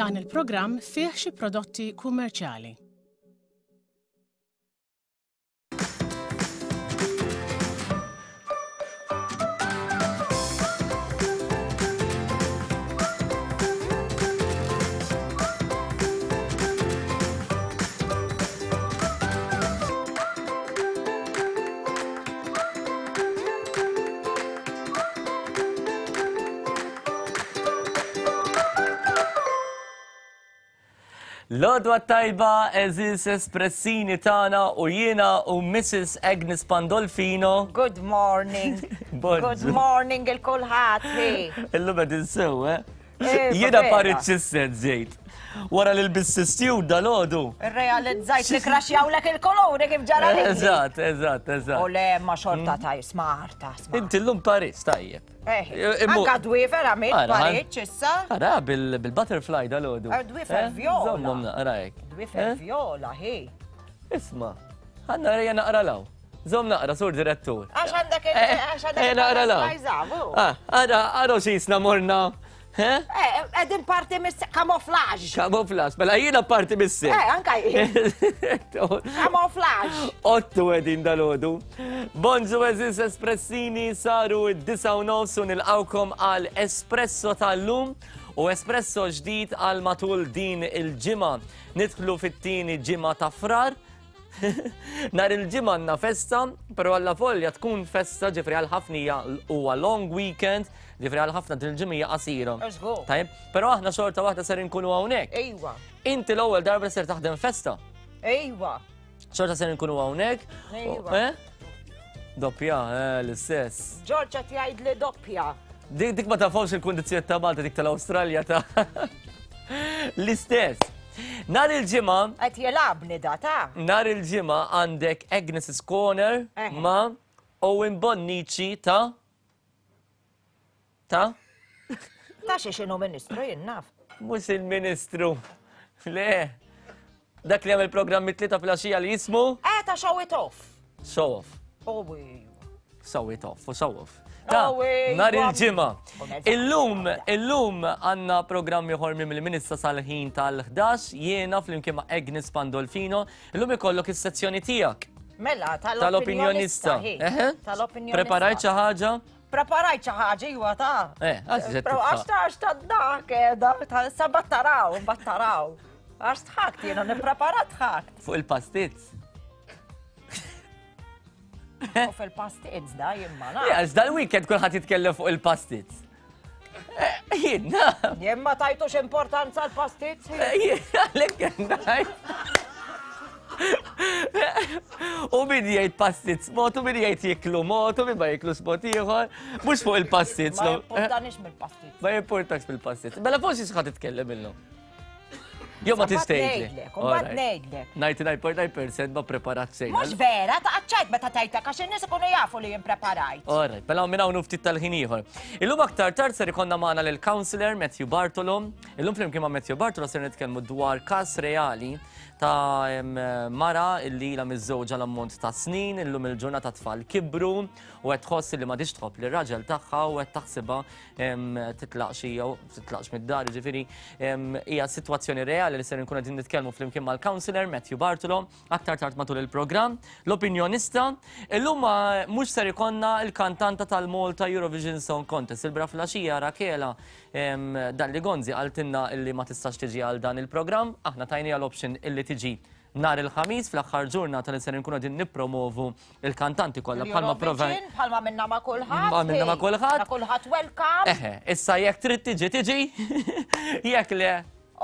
Dan il-programm fih xi prodotti kummerċjali. L-għodwa tajba eżis espressini tagħna u jiena u Mrs. Agnes Pandolfino. Good morning. Good morning il-kulħadd. Illum qegħdin sew, eh? eh jiena parit xisset żejt. Wara li l-bissistju dal-għodu. Realizzajt li kraxjawlek il-kolori kif ġara li. Eżatt, eżatt, eżatt. U le ma xorta mm. taj, smarta, smarta. Inti l-lum Paris, tajjeb. Eh, anka dwifer għamil Paris issa. Ara, bil-butterfly dal-għodu. Eh, dwifer eh, viola. Zommom naqra hekk. Dwifer viola, hi. Isma, ħanna rejja naqra law. Zom naqra, sur direttur. Għax għandek il- għax għandek naqra law. Ah, ara, ara xisna morna. Eh, Edin parti mis kamoflaġ. Kamoflaġ, mela jiena parti mis Eh, anka jien. Kamoflaġ. Ottu edin dal-ħodu. Bonġu eżis espressini saru id-disa u nofs u nilqawkom għal espresso tal-lum u espresso ġdid għal matul din il-ġimgħa. Nidħlu fit-tieni ġimgħa ta' frar. Nar il-ġimgħa għandna festa, però alla volja tkun festa ġifri għal ħafna huwa long weekend, ġifri għal ħafna din il-ġimgħa hija qasira. Tajjeb, però aħna xorta waħda ser inkunu hawnhekk. Ejwa. Inti l-ewwel darba ser taħdem festa. Ejwa. Xorta ser inkunu hawnhekk. Ejwa. Eh? Doppja, eh, l-istess. Ġorġa tgħid li doppja. Dik dik ma tafhomx il-kundizzjonijiet ta' Malta dik tal-Awstralja ta' l-istess. Nar il-ġimgħa. Qed jilgħabni da ta'. Nar il-ġimgħa għandek Agnes's Corner ma' Owen Bonnici ta' Ta? Ta' xi x'inhu ministru jien naf. Mhux il-ministru. Le. Dak li għamel programm mit-tlieta fil-għaxija li jismu? Eh, ta' show it off. Show off. Oh, Show it off, u show off. Ta' nar il-ġimgħa. Illum, illum għandna programm ieħor minn il-Minista sal-ħin tal-11 jiena flimkien ma' Agnes Pandolfino. Illum ikollok is-sezzjoni tiegħek. Mela, tal-opinjonista. Tal-opinjonista. Preparajt xi ħaġa? Preparajt xi ħaġa iwa ta'. Eh, għax Però għax ta' għax ta' dak eh, ta' sa battaraw, battaraw. Għax tħakt jiena nipprepara tħakt. Fuq il-pastizz. Fuq il-pastizz da jien ma nafx. Għax dal-weekend kulħadd jitkellem fuq il-pastizz. Eh, jien. Jien ma tajtux importanza l-pastizz. Eh, għalhekk ngħid. U min jgħid pastizz mod, u min jgħid jiklu mod, u min ma jiklux mod ieħor. Mhux fuq il-pastizz. Ma jimportanix mill-pastizz. Ma jimportax mill-pastizz. Mela forsi x'ħad titkellem illum. Jew ma tix tgħidli. Mbagħad ngħidlek. 99.9% ma preparat xejn. Mhux vera, ta' qaċċajt meta tajtek għax in-nies ikunu jafu li jien preparajt. Alright, mela minn hawn ftit tal-ħin ieħor. Illum aktar tard ser ikollna magħna lil counselor Matthew Bartolo. Illum flimkien ma' Matthew Bartolo ser nitkellmu dwar każ reali ta' mara illi ilha miżżewġa l-ammont ta' snin, illum il-ġurnata tfal kibru u qed tħoss li m'għadhiex tħobb lir-raġel tagħha u qed taħsibha titlaqx hija titlaqx mid-dar, jiġifieri hija sitwazzjoni reali li ser nkunu qegħdin nitkellmu flimkien mal-counselor Matthew Bartolo aktar tard matul il-programm. L-opinjonista, illum mhux ser ikollna l-kantanta tal-Malta Eurovision Song Contest, il-bra flaxija Rakela Dalli Gonzi qaltilna illi ma tistax tiġi għal dan il-programm, aħna tajniha l-option illi tiġi nhar il-Ħamis fl-aħħar ġurnata li ser inkunu qegħdin nippromovu l-kantanti kollha bħalma provajna. Bħalma minna ma' kulħadd. Ma minna ma' kulħadd. Ma' kulħadd welcome. Eħe, issa jekk trid tiġi tiġi, jekk le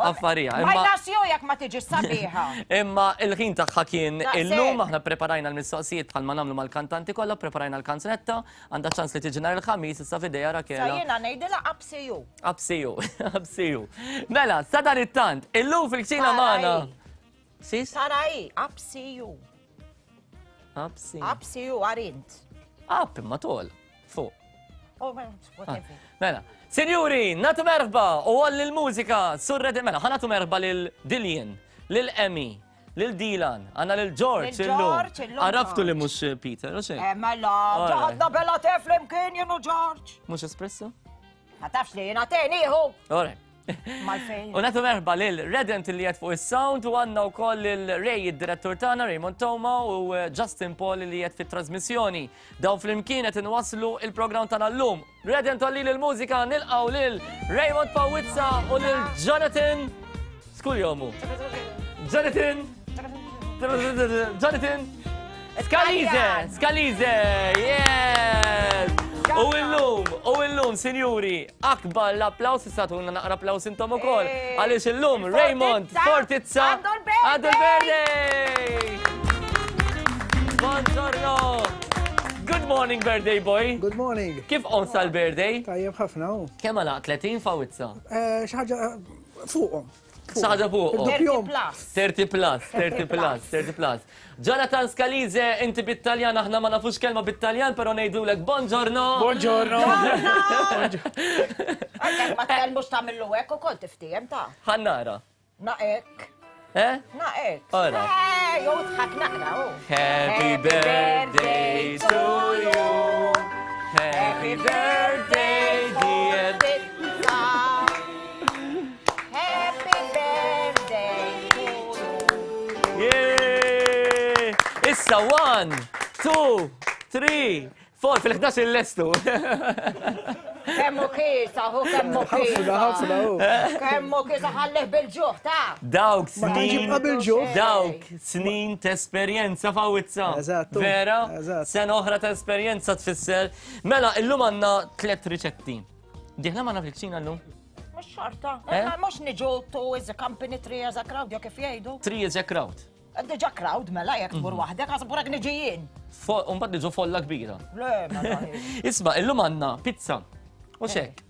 affarija. Ma jnasju jekk ma tiġi sabiħa. Imma il-ħin tagħha kien illum aħna preparajna l-mistoqsijiet bħalma nagħmlu mal-kantanti kollha, preparajna l-kanzunetta, għandha ċans li tiġi nhar il-Ħamis issa f'idejha Rakela. Sa jiena ngħidilha up see you. Up see you, up see you. Mela, sa dan it-tant, illum fil-kċina magħna. Sis? Tara hi, up see you. Up see. Up see you għarint. Up imma tol, fuq. Oh, whatever. Ah, mela, sinjuri, natu merħba u għall il-mużika, surre mela, ħanatu merħba lil Dillian, lil Emmy, lil Dilan, għanna lil George illum. Għaraftu li mux Peter, u xejn. Eh, mela, ġaħadna bella teflim kien jenu George. Mux espresso? Ma tafx li jena teni, hu. Alright. Mal-fejn. U nagħtu merħba lil Redent li qed fuq is-sound u għandna wkoll lil Ray id-direttur tagħna Raymond Toma u eh, Justin Paul li qed fit-trasmissjoni. Dawn flimkien qed inwasslu il-programm tagħna llum. Redent għalli l-mużika nilqgħu lil Raymond Pawizza u lil Jonathan Skull jomu. Jonathan Jonathan Scalise, Scalise, yes! U illum, u illum, sinjuri, akbar l-applaus, istatuna naqra applaus intom ukoll. Eh, Għaliex illum Raymond Fortizza għandu għandu l-birthday! Buongiorno! Good morning, birthday boy! Good morning. Kif on sal-birthday? Tajjeb ħafna u. Kemm għalaq 30 fawizza? Eh, Xi ħaġa eh, fuqhom. Xi ħaġa fuqhom. Irdoppjhom. plus. 30 plus, 30 plus, 30 plus. Jonathan Scalise, inti bit-Taljan, aħna ma nafux kelma bit-Taljan, pero ngħidulek buongiorno. Buongiorno. Għalhekk ma tkellmux tagħmillu hekk ukoll tiftiem ta' Ħannara. Na hekk. Eh? Na hekk. Ora. Eh, jew tħak naqra hu. Happy birthday to you. Happy birthday, dear. Happy birthday to you. Yeah! Issa, one, two, three, four, fil-11 il-lestu. Kemmu kisa, hu kemmu Ħafna, kisa. ħafna u. Kemmu kisa ħallih bil-ġuħ ta' Dawk Ma tantx snin. jibqa' bil-ġuħ. Dawk snin ta' esperjenza fawizza. Eżattu, Vera? eżatt. Sena oħra ta' esperjenza tfisser. Mela, illum għandna tlet riċetti. Diħla ma fil-kċina llum? Mux xorta. Eh? Ma mux niġu two is a company, three is a crowd, jo kif jgħidu. Three is a crowd. Diġa crowd mela jekk tmur waħdek, għax burek niġi jien. Umbad niġu folla kbira. Le, mela. Isma, illum għandna pizza. U xek?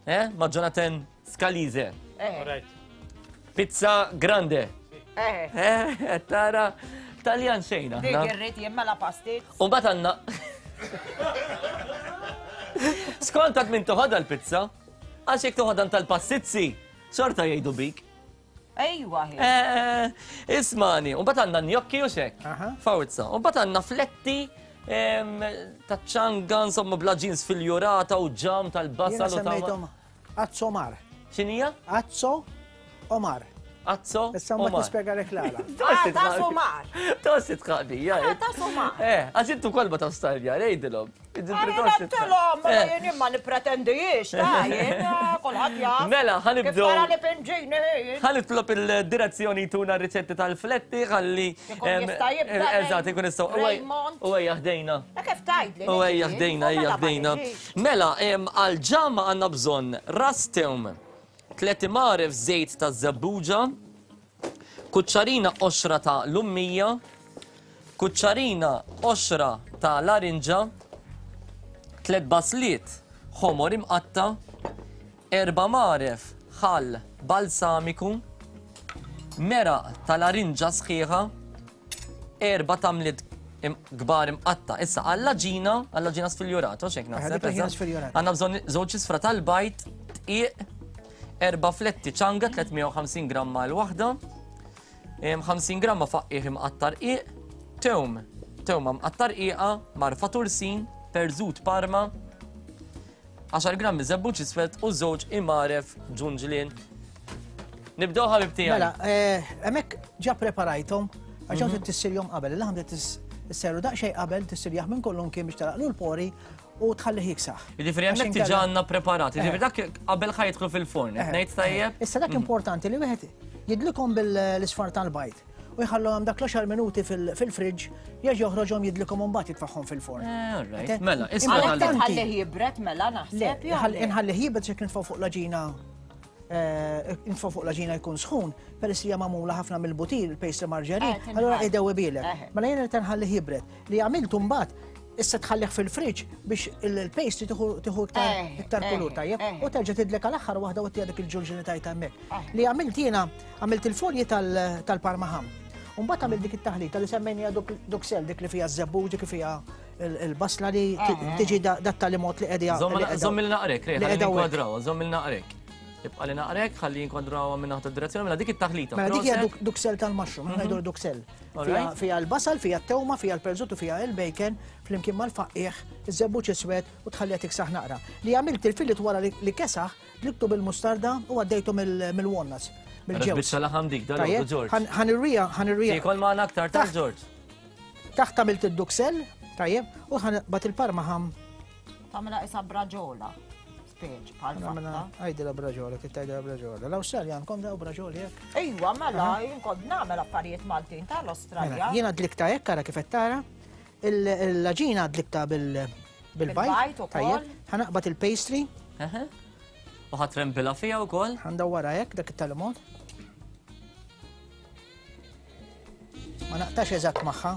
Eh? Ma' Jonathan Scalise. Eh, Alright. Pizza grande. eh. Eh, tara, Taljan xejn Dik aħna. irrid jien mela pastit. U mbagħad għandna. Skont għad min toħodha l-pizza, għax jekk toħodha tal-passizzi, xorta jgħidu bik. Ejwa hi. Eh, Ismani, u mbagħad għandna gnocchi u xek. Aha. Fawzza. U mbagħad għandna fletti em, ta' ċanga, insomma, bla ġins fil-jurata u ġam Jiena tal-basal u ta' semmejthom Azzo Omar. Xinija? Azzo Omar. Azzo? Issa mbagħad Omar. nispjega lek l-għala. Ah, ta' sumar. Tossi tqaqbija. Ah, ta' sumar. Eh, għax intu kolba ta' stalja, rejdilom. Għalilom, ma jien ma nipretendijiex, ta' jien kulħadd jaf. Mela, ħanibdew. Kif tara li pinġini jien. Ħanitlob il-direzzjoni tuna riċetti tal-fletti, ħalli. Ikun jista' jibda Eżatt, ikun jista' Raymond. U ejja ħdejna. La kif tgħidli? U ejja ħdejna, ejja ħdejna. Mela, em, għal-ġamma għandna bżonn ras tewm, tlet imgħaref żejt ta' żebbuġa, kuċċarina qoxra ta' lummija, kuċċarina qoxra ta' larinġa, tlet basliet ħomor imqatta, erba' mgħaref ħall balsamiku, meraq ta' larinġa sħiħa, erba' tamliet im- kbar imqatta. Issa għall-aġina, għall-aġina sfiljurata, xek naħseb. dik l-aġina eżatt. sfiljurata. Għandna bżonn żewġ isfra tal-bajt, tqiq, erba' fletti ċanga 350 gramma l-waħda, em, 50 gramma faqqiħ imqattar qiq, tewm, tewma mqattar qiqa, marfa tursin, perżut parma, 10 grammi żebbuġ iswed u żewġ imgħaref ġunġlien. Nibdew ħabib tiegħi. Mela, eh, hemmhekk ġa preparajthom għax mm tissirjhom qabel, il-laħam trid tisseru daqsxejn qabel tissirjah minn kollu kien biex taraqlu l-pori u tħallih jiksaħ. Jiġifieri Għax hemmhekk inkella- diġà għandna preparat, jiġifieri Eh. dak qabel ħa jidħlu fil-forn, qed Eh, ngħid tajjeb? Issa dak importanti li wieħed jidlikom bil-isfar tal-bajt u jħallhom dak l-10 minuti fil-friġġ jerġa' joħroġhom jidlikom u mbagħad jitfaħħom fil-forn. Eh, all right. Ete? Mela, isma' Għalhekk tal- tħallih jibret mela Le, naħseb. jew le? inħallih jibred xek nitfgħu fuq l-aġina eh, nitfgħu fuq l-aġina jkun sħun, peress li hija magħmula ħafna mill-butir, il-pastry marġarin, Eh, tinħall. allura idew bilek. Eh. Mela jiena qed nħallih jibred. Li għamiltu mbagħad issa tħallih fil-friġġ biex il-pastry tieħu tieħu iktar Eh, iktar eh, kulur tajjeb eh. u terġa' tidlek għal aħħar waħda u tieħu dik il-ġulġini tajta hemmhekk. Eh. Li għamilt jiena għamilt il-folji tal- tal-parmaham. Mbagħad għamilt dik it-taħlita li semmejnija duksel dik li fiha ż-żebbuġ, dik li fiha il-basla li tiġi dat tal-imot li qegħda. Żomm il naqrek, rej, ħalli nkwadraw, żomm il naqrek. Ibqa' li naqrek, ħalli jinkwadrawha minn naħa tad-direzzjoni, mela dik it-taħlita. Mela dik hija duxelles tal-mushroom, aħna ngħidu duxelles. Fiha l-basal, fiha t-tewma, fiha l-perżut u fiha il-bacon, flimkien mal-faqqiegħ, iż-żebbuġ iswed u tħalliha tiksaħ naqra. Li għamilt il-fillet wara li kesaħ, dliktu bil-mustarda u għaddejtu mill-walnuts. Mill-ġewż. Biċċa laħam dik, dal George. Ħanirrija, ħanirrija. Tiekol magħna aktar ta' George. Taħt għamilt id-duxelles, tajjeb, u ħanbat il-parma ħam. Tagħmilha isa braġola. Speċ, bħal fatta. Għajdila braġola, kif tgħidilha braġola. L-Awstralja għandkom daw braġoli hekk? Ejwa, mela, jien kont nagħmel affarijiet Maltin tal-Awstralja. Mela, jiena dlikta hekk ara kif qed tara. Il-għaġina dlikta bil-bajt. Tajjeb, ħanaqbad il-pastry. U ħatrempilha fiha wkoll. Ħandawwarha hekk dak it-tal-mod. Ma naqtax eżatt magħha.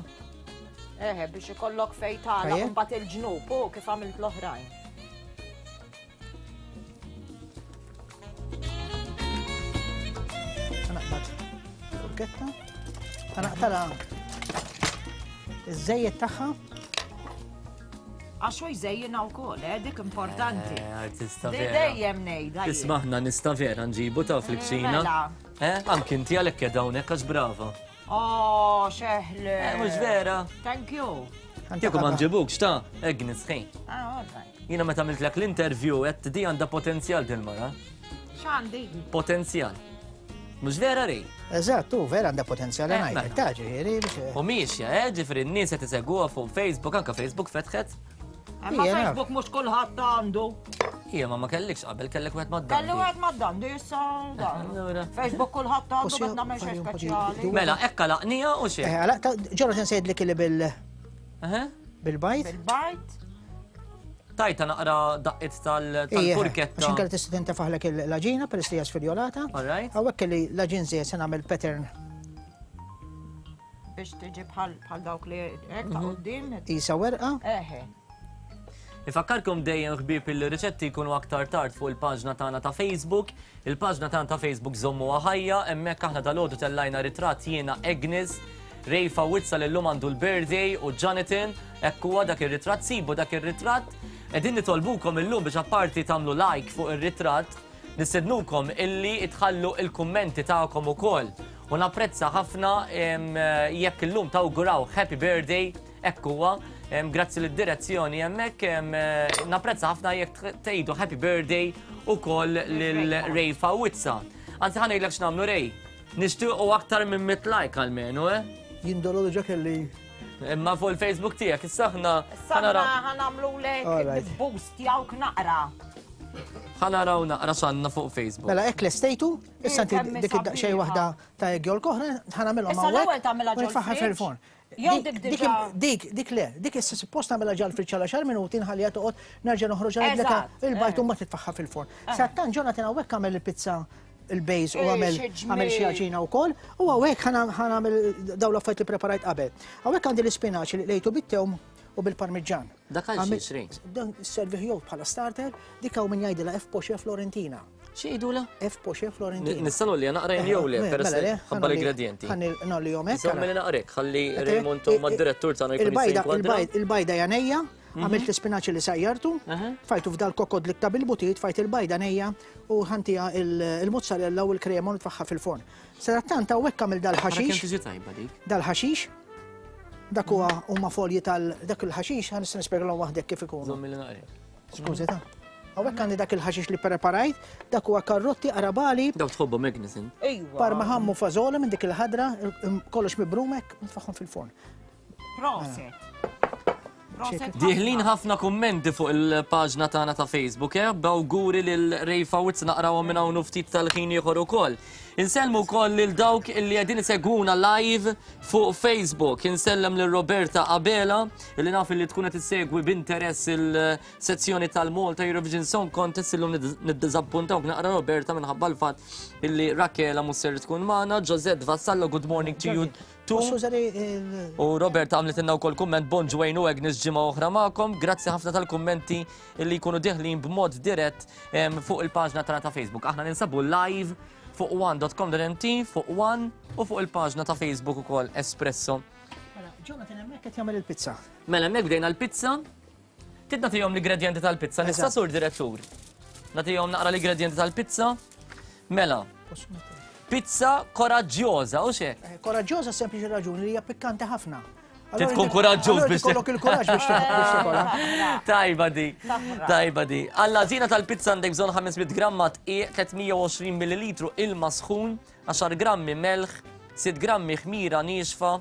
Eħe, biex ikollok fej tagħlaq imbagħad il-ġnub u kif għamilt l-oħrajn. Naqbad furketta. Naqtala iż-żejjed tagħha. Għax hu jżejjinha wkoll, eh, dik importanti. Eh, artista vera. Dejjem ngħidha. Isma' aħna nista' vera nġibu ta' fil-kċina. Mela. Eh, anki inti għalhekk qiegħda hawnhekk għax brava. Oh, xeħli. Eh, mhux vera. Thank you. Kieku ma nġibukx ta' Agnes ħin. Ah, all right. Jiena meta għamiltlek l-interview qed di għandha potenzjal din mara. X'għandi? Potenzjal. Mhux vera rej? Eżatt, u vera għandha potenzjal Eh, ngħidlek, mela. ta' ġifieri biex. U miexja, eh, ġifieri n-nies qed iseguha fuq Facebook, anke Facebook fetħet. Imma Ija, naf. Facebook mhux kulħadd għandu. Ija, ma ma kellikx qabel, kellek wieħed mad Kelli wieħed mad-dandi issa dan. Allura. Facebook kulħadd għandu Osja, qed nagħmel xi fajju, speċjali. fajju. Mela, ekka laqnija u xejn. Eh, għalaq ta' Jonathan sejt li bil Eħe. bil-bajt. Bil-bajt. Tajta naqra daqqiet Għax tal-furketta. inkella tista' tintefaħlek l-għaġina peress li hija sfiljolata. All right. Hawnhekk kelli l-għaġin żejjed se nagħmel pattern Biex tiġi bħal bħal dawk li hekk ta' quddiem. isa werqa. Eħe. Ifakkarkom dejjem ħbieb il-riċetti jkunu aktar tard fuq il-paġna tagħna ta' Facebook. Il-paġna tagħna ta' Facebook żommuha ħajja, hemmhekk aħna dalgħodu tellajna ritratt jiena Agnes, Ray Fawizza li llum għandu l-birthday u Jonathan, hekk huwa dak ir-ritratt, sibu dak ir-ritratt. Qegħdin nitolbukom illum biex apparti tagħmlu like fuq ir-ritratt, nistednukom illi tħallu il-kummenti tagħkom ukoll. U napprezza ħafna jekk illum tawguraw happy birthday, hekk huwa, grazzi lid-direzzjoni hemmhekk, napprezza ħafna jekk tgħidu happy birthday ukoll lil Ray Fawizza. Anzi ħa ngħidlek x'nagħmlu Ray. Nixtiequ aktar minn 100 like almenu, eh? Jindolu diġà kelli. Imma fuq il-Facebook tiegħek, issa aħna Issa aħna ħa nagħmlulek All right. boost jawk naqra. Ħa naraw naqra x'għandna fuq Facebook. Mela hekk lestejtu, issa inti Kemm dik id-daqsxejn sabiħa. waħda ta' egg yolk oħra ħa nagħmilhom Issa l-ewwel hawnhekk tagħmilha u nitfaħħa ġol-fridge. fil-forn. Jew Dik dik diġà. dik dik le, dik issa suppost nagħmilha ġal fridge għal għaxar minuti nħalliha toqgħod nerġa' noħroġha ngħidlek Eżatt, il-bajt eh. u mbagħad titfaħħa fil-forn. Sattan Jonathan hawnhekk għamel il-pizza il-base u Eh, għamel xi ġmiel. għamel xi għaġina wkoll u hawnhekk ħa nagħmel dawn l-affarijiet li preparajt qabel. Hawnhekk għandi l-ispinaċ li lejtu bit-tewm u bil-parmiġġan. Dak għal Għamil- xiex, Ray? Dan servih jew bħala starter, dik hawn min jgħidilha F Poche Florentina. Xi jgħidulha? F Poche Florentina. Nista' nolli naqra jien jew le, peress Mela li le, ħabba l-ingredienti. Ħa nolli hekk. Żommi li naqrek, ħalli Raymond u mad-direttur tagħna jkun jista' jinkwadra. Il-bajda janejja, għamilt l-ispinaċi li sajjartu, fajtu f'dal kokod li ktab il-butit, fajt il-bajda nejja u ħantija il-mozzarella u l-krema u nitfaħħa fil-forn. Sadattant hawnhekk għamil Ara kemm dal-ħaxix, tiġi tajba dik. dal-ħaxix, dak huwa huma folji tal dak il-ħaxix ħa nista' nispjegalhom waħdek kif ikunu. Żommi li naqrek. Skużi ta'. Hawnhekk għandi dak il-ħaxix li preparajt, dak huwa karrotti, arabali, Dawk tħobbhom Agnes int. Ejwa. parma ħammu fażola minn dik il-ħadra, kollox mibrumek, nitfaħħom fil-forn. Proset. Proset. Diħlin ħafna kummenti fuq il-paġna tagħna ta' Facebook, eh? B'awguri lil Ray Fawitz naqrawhom minn hawn u ftit tal-ħin ieħor ukoll. Insellmu wkoll lil dawk illi qegħdin isegwuna live fuq Facebook. Insellem lil Roberta Abela illi naf illi tkun qed issegwi b'interess il-sezzjoni tal-Malta Eurovision Song Contest illum niddiżappuntawk naqra Roberta minħabba l-fatt illi Rakela mhux ser tkun magħna. Josette Vassallo, good morning to you too. Posso użare il- U Robert għamlet inna wkoll kumment bonġu Wayne u Agnes ġimgħa oħra magħkom. Grazzi ħafna tal-kummenti li jkunu deħlin b'mod dirett fuq il-paġna tagħna ta' Facebook. Aħna ninsabu live fuq one.com.mt, fuq One u fuq il-paġna ta' Facebook ukoll Espresso. Mela, Jonathan hemmhekk qed jagħmel il-pizza. Mela hemmhekk bdejna l-pizza. Tid nagħtihom l-ingredienti tal-pizza, nista' Eżatt. sur direttur. Nagħtihom naqra l-ingredienti tal-pizza. Mela, pizza koraġġjoża, u xek? Eh, koraġġjoża sempliċi raġuni li hija pikkanti ħafna. Trid tkun kuraġġuż biex tkollok il-kuraġġ biex tikolha. Tajba di, tajba di. Għall-għażina tal-pizza għandek bżonn 500 gramma dqiq, 320 millilitru ilma sħun, 10 grammi melħ, 6 grammi ħmira niexfa,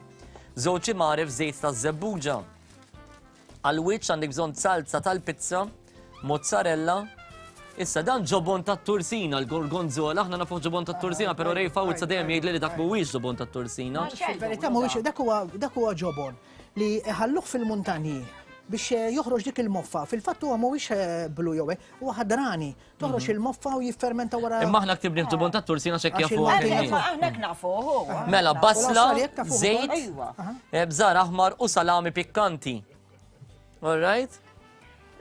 żewġ imgħaref żejt taż-żebbuġa. Għall-wiċċ għandek bżonn salza tal-pizza, mozzarella, Issa dan ġobon tat-tursina, l-gorgonzola, aħna nafu ġobon tat-tursina, però Ray Fawzza dejjem jgħidli li dak mhuwiex ġobon tat-tursina. Fil-verità mhuwiex dak huwa dak huwa ġobon li ħalluh fil-muntanji biex eh, joħroġ dik il-moffa. Fil-fatt huwa mhuwiex eh, blu jew hekk, huwa ħadrani. Toħroġ mhm. il-moffa u jiffermenta wara. Imma aħna ktibni ġobon tat-tursina x'hekk jafu. Aħna nafu. Mela basla, żejt, eh, bżar aħmar u salami pikkanti. All right?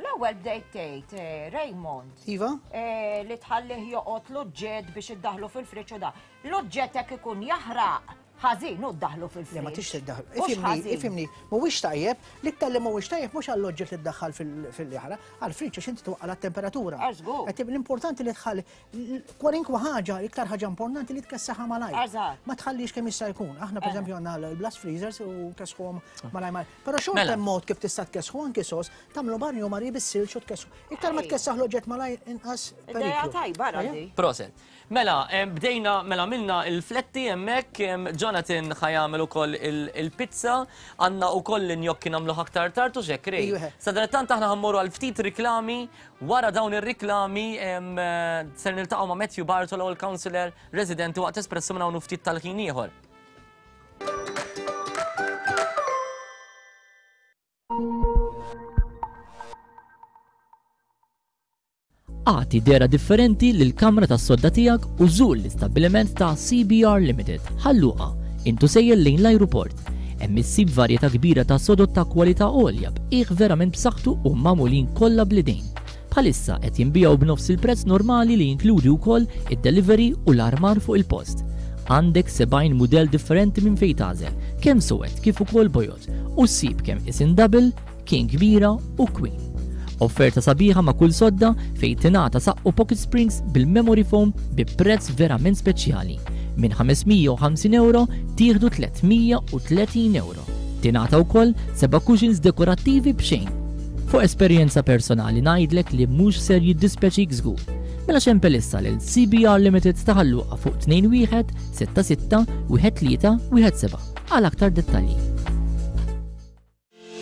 L-ewwel bdejt tgħid eh, Raymond. Iva? Eh, li tħallih joqgħod l-oġġett biex iddaħlu fil-friġġ u da. L-oġġett hekk ikun jaħraq ħażin u ddaħlu fil-friġġ. Le ma tix tiddaħlu. Ifimni, ifimni, mhuwiex tajjeb, l-iktar li mhuwiex tajjeb mhux għall-oġġett li ddaħħal fil-jaħraq, għall-friġġ għax inti twaqqal temperatura L-importanti li tħalli Kwalinkwa ħaġa, iktar ħaġa importanti li tkessaħa malajr. Eżatt. Ma tħallix kemm jista' jkun. Aħna pereżempju għandna l-blast freezers u kesħuhom malajr malajr. Però xorta Mela. hemm mod kif tista' tkessħu anki sos, tagħmlu banju mari bis-silġ u tkessħu. Iktar ma tkessaħ l-oġġett malajr inqas Ideja periklu. tajba Radi. Proset. Mela, bdejna, mela minna il-fletti hemmhekk, Jonathan ħa jagħmel ukoll il-pizza, għandna ukoll l-gnocchi nagħmluh aktar tard u x'hekk, Ray. Ejju, eħe. Sadanittant aħna ħa mmorru għal ftit riklami Wara dawn ir-riklami ser niltaqgħu ma' Matthew Bartolo, il-Councillor Residenti waqt Espresso minn hawn u ftit tal-ħin ieħor. Agħti dehra differenti lill-kamra tas-sodda tiegħek u żur l-istabbiliment ta' CBR Limited, Ħal Luqa, int u sejjer lejn l-ajruport. Hemm issib varjetà kbira ta' sodod ta' kwalità għolja b'qiegħ verament b'saħħtu u magħmulin kollha bl-idejn. Bħalissa qed jinbiegħu b'nofs il-prezz normali li jinkludi wkoll id-delivery u l-armar fuq il-post. Għandek 70 mudell differenti minn fejn tagħżel, kemm suwed kif ukoll bojod, u ssib kemm isin double, King kbira u Queen. Offerta sabiħa ma' kull sodda fejn tingħata saqqu pocket springs bil-memory foam bi prezz verament speċjali. Minn 550 ewro tieħdu 330 ewro. Tingħata wkoll seba' cushions dekorattivi b'xejn. Fuq esperjenza personali ngħidlek li mhux ser jiddispjaċik żgur. Mela xempel issa lil CBR Limited ta' Ħal Luqa fuq 21 66 13 17 għal aktar dettalji.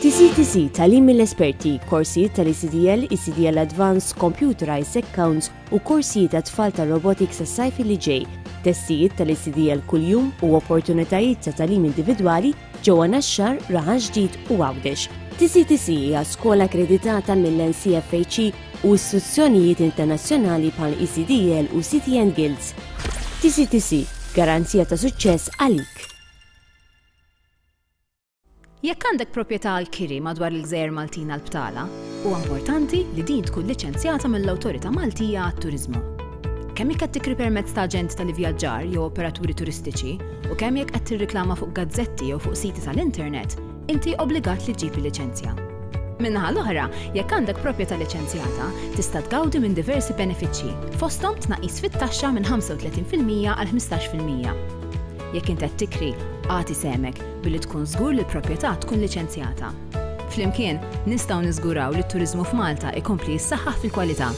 TCTC, Tagħlim mill-esperti, korsijiet tal-ECDL, ECDL Advanced, Computerized Accounts u korsijiet għat-tfal tar-robotics għas-sajf li ġej, testijiet tal-ECDL kuljum u opportunitajiet ta' tagħlim individwali ġewwa Naxxar, Raħal Ġdid u Għawdex. TCTC hija skola akkreditata mill-NCFHE u istituzzjonijiet internazzjonali bħal ECDL u CTN Guilds. TCTC, garanzija ta' suċċess għalik. Jekk għandek proprjetà għall-kiri madwar il-gżejjer Maltin għall-btala, huwa importanti li din tkun liċenzjata mill-Awtorità Maltija għat-Turiżmu. Kemm jekk qed tikri permezz ta' aġent tal-ivvjaġġar jew operaturi turistiċi u kemm jekk qed tirriklama fuq gazzetti jew fuq siti tal-internet, inti obbligat li ġġib il-liċenzja. Min-naħa l-oħra, jekk għandek proprjetà liċenzjata, tista' tgawdi minn diversi benefiċċji, fosthom tnaqqis fit-taxxa minn 35% għal 15%. Jekk int qed tikri, agħti sehmek billi tkun żgur li l-proprjetà tkun liċenzjata. Flimkien, nistgħu niżguraw li t-turiżmu f'Malta jkompli jissaħħaħ fil-kwalità.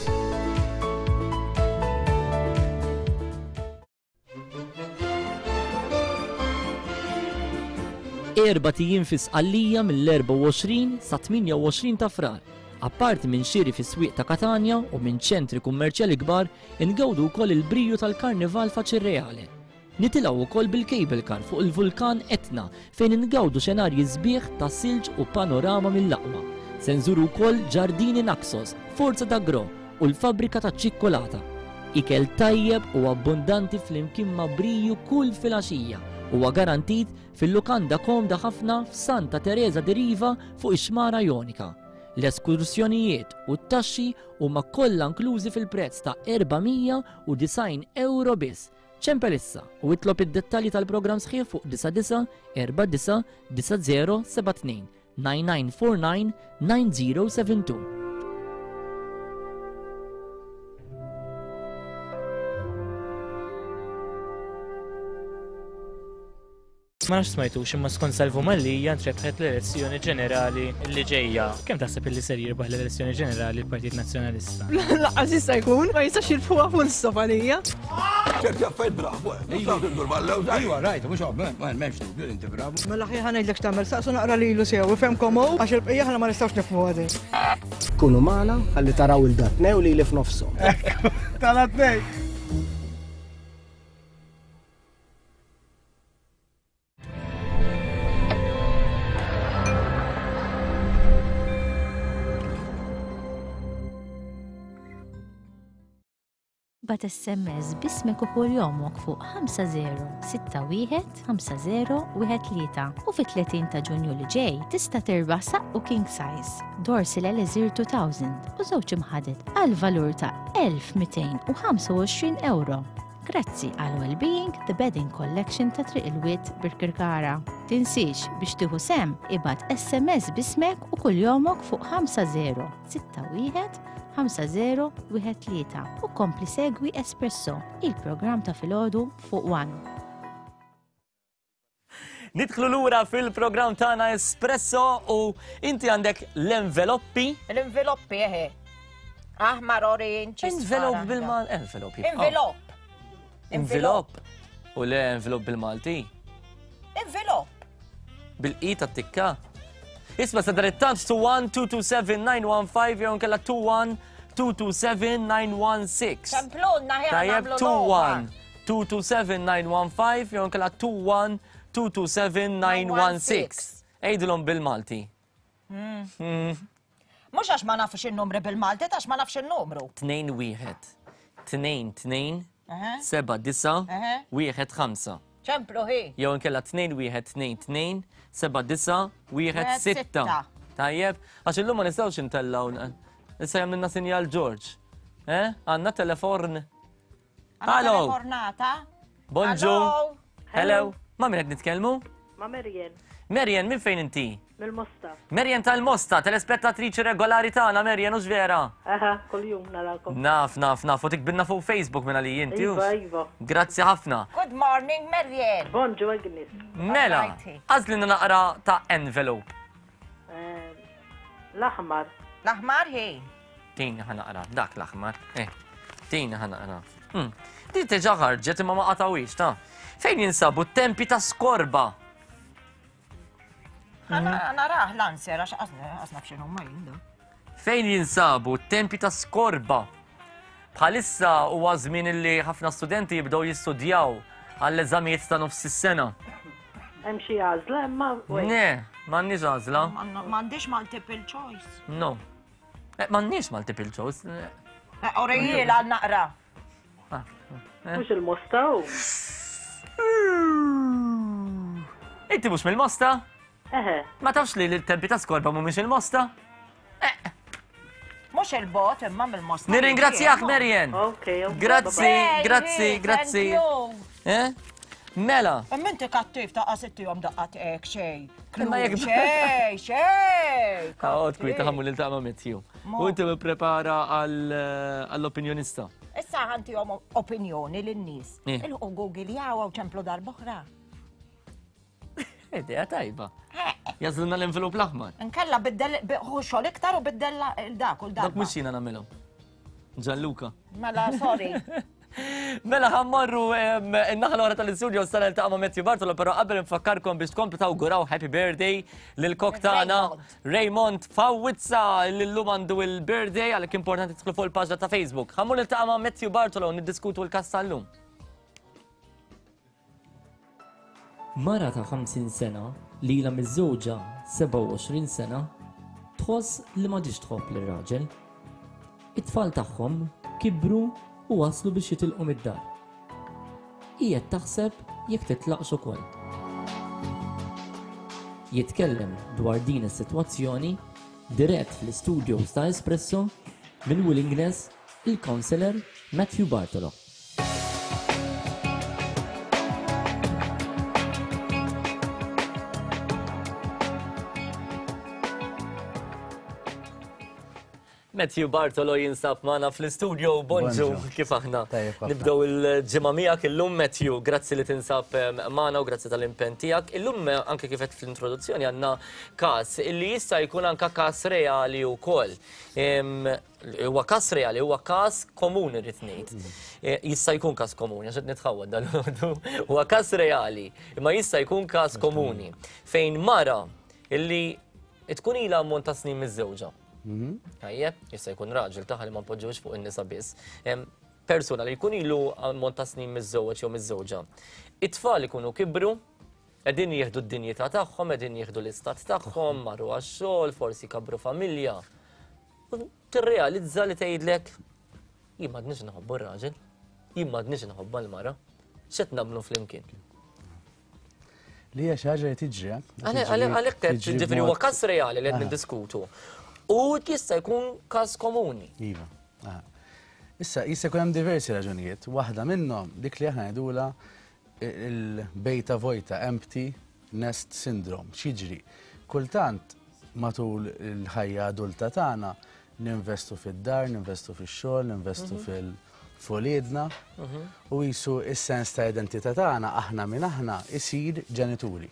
Erbat ijiem fi Sqallija mill-24 sa 28 ta' Frar. Apparti minn xiri fis-swieq ta' Katanja u minn ċentri kummerċjali kbar, ingawdu wkoll il-briju tal-Karnival f'Acireale. Nitilgħu wkoll bil-cable car fuq il-vulkan Etna fejn ingawdu xenarji sbieħ ta' silġ u panorama mill-aqwa. Se nżuru wkoll Ġardini Naxos, Forza d'Agrò u l-fabbrika taċ-ċikkulata. Ikel tajjeb u abbundanti flimkien ma' briju kull filgħaxija huwa garantit fil-lukanda komda ħafna f'Santa Teresa di Riva fuq ix-Xmara Jonika. L-eskursjonijiet u t-taxxi huma kollha inklużi fil-prezz ta' 490 ewro biss. Ċempel issa u itlob id-dettalji tal-programm sħiħ fuq 99 49 9072 9949 9072. Ma nafx smajtux imma skont Salvu Mallia ntrebħet l-elezzjoni ġenerali li ġejja. Kemm taħseb illi ser jirbaħ l-elezzjoni ġenerali l-Partit Nazzjonalista? Laqqas jista' jkun, ma jistax jirbħuha full stop għalija. ċerti affarijiet bravu, eh. Iva, Iva, rajt, mhux m'hemmx dubju li inti bravu. Mela ħi ħanejdlek x'tagħmel, saqsu naqra lilu sew, ifhemkom hu, għax il-bqija aħna ma nistgħux nifhmu għadi. Kunu magħna ħalli taraw il-datnew li li f'nofshom. Tal-atnej! Bat SMS bismek u kuljomok fuq 5061 5013 u fit-30 ta' Ġunju li ġej tista' tirbaħ saqqu king size, Dorsil Elixir 2000 u żewġ imħaded għal valur ta' 1225 euro. Grazzi għal Wellbeing The Bedding Collection ta' Triq il-Wied Birkirkara. Tinsiex biex tieħu sehem ibgħat SMS b'ismek u kuljomok fuq 5061 5013 u kompli segwi Espresso, il-programm ta' filgħodu fuq One. Nidħlu lura fil-programm tagħna Espresso u inti għandek l-enveloppi. L-enveloppi eħe. Aħmar orange. Envelop bil-mal, envelop. Envelop. Envelop. U le envelop bil-Malti. Envelop. Bil-i ta' tikka. Isma sa dan it-tant 21227 jew nkella 21227 Ċemplunna ħe Tajjeb 21 227-915 jew inkella 21-227-916. Għidilhom bil-Malti. Hmm. Mhux għax ma nafx in-numri bil-Malti, għax ma nafx in-numru. 2 1 2 2 7 9 1 5. Ċemplu hi. Jew inkella 2 1 2 2 7 9 1 6. Tajjeb, għax illum ma nistgħux intellgħu. Issa jagħmilna sinjal George. Eh? Għandna teleforn. Hello. Telefornata. Bonġu. Hello. Ma' min qed nitkellmu? Ma' Merjen. Merjen, minn fejn inti? Mill-Mosta. Merjen tal-Mosta, telespettatriċi regolari tagħna, Merjen, hux vera? Aha, kuljum narakom. Naf, naf, naf, u tikbilna fuq Facebook minn għalija inti. Iva, iva. Grazzi ħafna. Good morning, Merjen. Bonġu, Agnes. Mela, għażlilna naqra ta' envelope. Ehm, l-aħmar. L-aħmar hi. Tini ħa naqra, dak l-aħmar. Eh, tini ħa naqra. Hmm. Di teġa ħarġet imma ma qatawix, ta' Fejn jinsabu t-tempi ta' skorba? Naraħ l-anser, għax għasna fxinu ma jinda. Fejn jinsabu t-tempi ta' skorba? Bħalissa huwa żmien li ħafna studenti jibdew jistudjaw għall-eżamijiet ta' nofs is-sena. Hemm xi għażla imma. Ne, m'għandniex għażla. M'għandix multiple choice. No. Eh, m'għandniex multiple choice. Eh, Orijil għal naqra. Ah, eh. Mhux il-Mosta u. Inti mhux mill-Mosta? Eħe. Ma tafx li l-tempi ta' skorba mhumiex il-Mosta? Mhux il-bot imma mill-Mosta. Nirringrazzjak, Merjen. Ok, Grazzi, grazzi, grazzi. Eh? Mela. Imma inti kattiv ta' qasittihom daqqat hekk xejn. Imma jekk xejn, xejn. Għod kwita ħammu lil ta' Matthew. U inti prepara għall-opinjonista. Issa ħantihom opinjoni lin-nies. Eh. Il-ħu Google jaw ċemplu darb'oħra. Idea tajba. Jażlilna l-envelop l-aħmar. Nkella biddel xogħol iktar u biddel dak u l-dak. Dak mhux jiena nagħmilhom. Gianluca. Mela, sorry. Mela ħammorru in-naħa l-oħra tal-istudio sa niltaqa' ma' Matthew Bartolo, però qabel nfakkarkom biex tkomplu tawguraw happy birthday lil kok tagħna Raymond Fawizza li llum għandu il-birthday għalhekk importanti tidħlu fuq il-paġna ta' Facebook. Ħammur niltaqa' ma' Matthew Bartolo u niddiskutu l-każ tal-lum. Mara ta' 50 sena li ilha miżżewġa 27 sena tħoss li m'għadhiex tħobb lir-raġel. It-tfal tagħhom kibru u waslu biex jitilqu mid-dar. Hi qed taħseb jekk titlaqx ukoll. Jitkellem dwar din is-sitwazzjoni dirett fl-istudios ta' Espresso minn Willingness il-Counsellor Matthew Bartolo. Matthew Bartolo jinsab magħna fl-istudio. Bonġu, kif aħna? Nibdew il-ġimgħa miegħek illum Matthew, grazzi li tinsab magħna u grazzi tal-impenn tiegħek. Illum anke kif qed fl-introduzzjoni għandna każ illi jista' jkun anke każ reali wkoll. Huwa każ reali, huwa każ komuni rrid ngħid. Eh, jista' jkun każ komuni, għax qed nitħawwad dal Huwa każ reali, imma jista' jkun każ komuni fejn mara illi tkun ilha ammont ta' snin miżżewġa. Mhm. Tajjeb, jista' jkun raġel taħ li ma npoġġewx fuq in-nisa biss. Persuna li jkun ilu ammont ta' snin miżżewġ jew miżżewġa. It-tfal ikunu kibru, qegħdin jieħdu d-dinjità tagħhom, qegħdin jieħdu l-istat tagħhom, marru għax-xogħol, forsi kabru familja. U tirrealizza li tgħidlek jien m'għadniex nħobbu r-raġel, jien m'għadniex nħobba l-mara, x'qed nagħmlu flimkien? Li hija xi ħaġa li tiġri. Eh? Għalhekk qed ġifieri huwa każ reali li qed niddiskutu. U jista' jkun każ komuni. Iva. Issa jista' jkun hemm diversi raġunijiet. Waħda minnhom dik li aħna ngħidula il-bejta vojta, empty nest syndrome. X'jiġri? Kultant matul il-ħajja adulta tagħna ninvestu fid-dar, ninvestu fix-xogħol, ninvestu mhm. fil- f'uliedna u qisu s-sens ta' identità tagħna aħna min aħna isir ġenituri.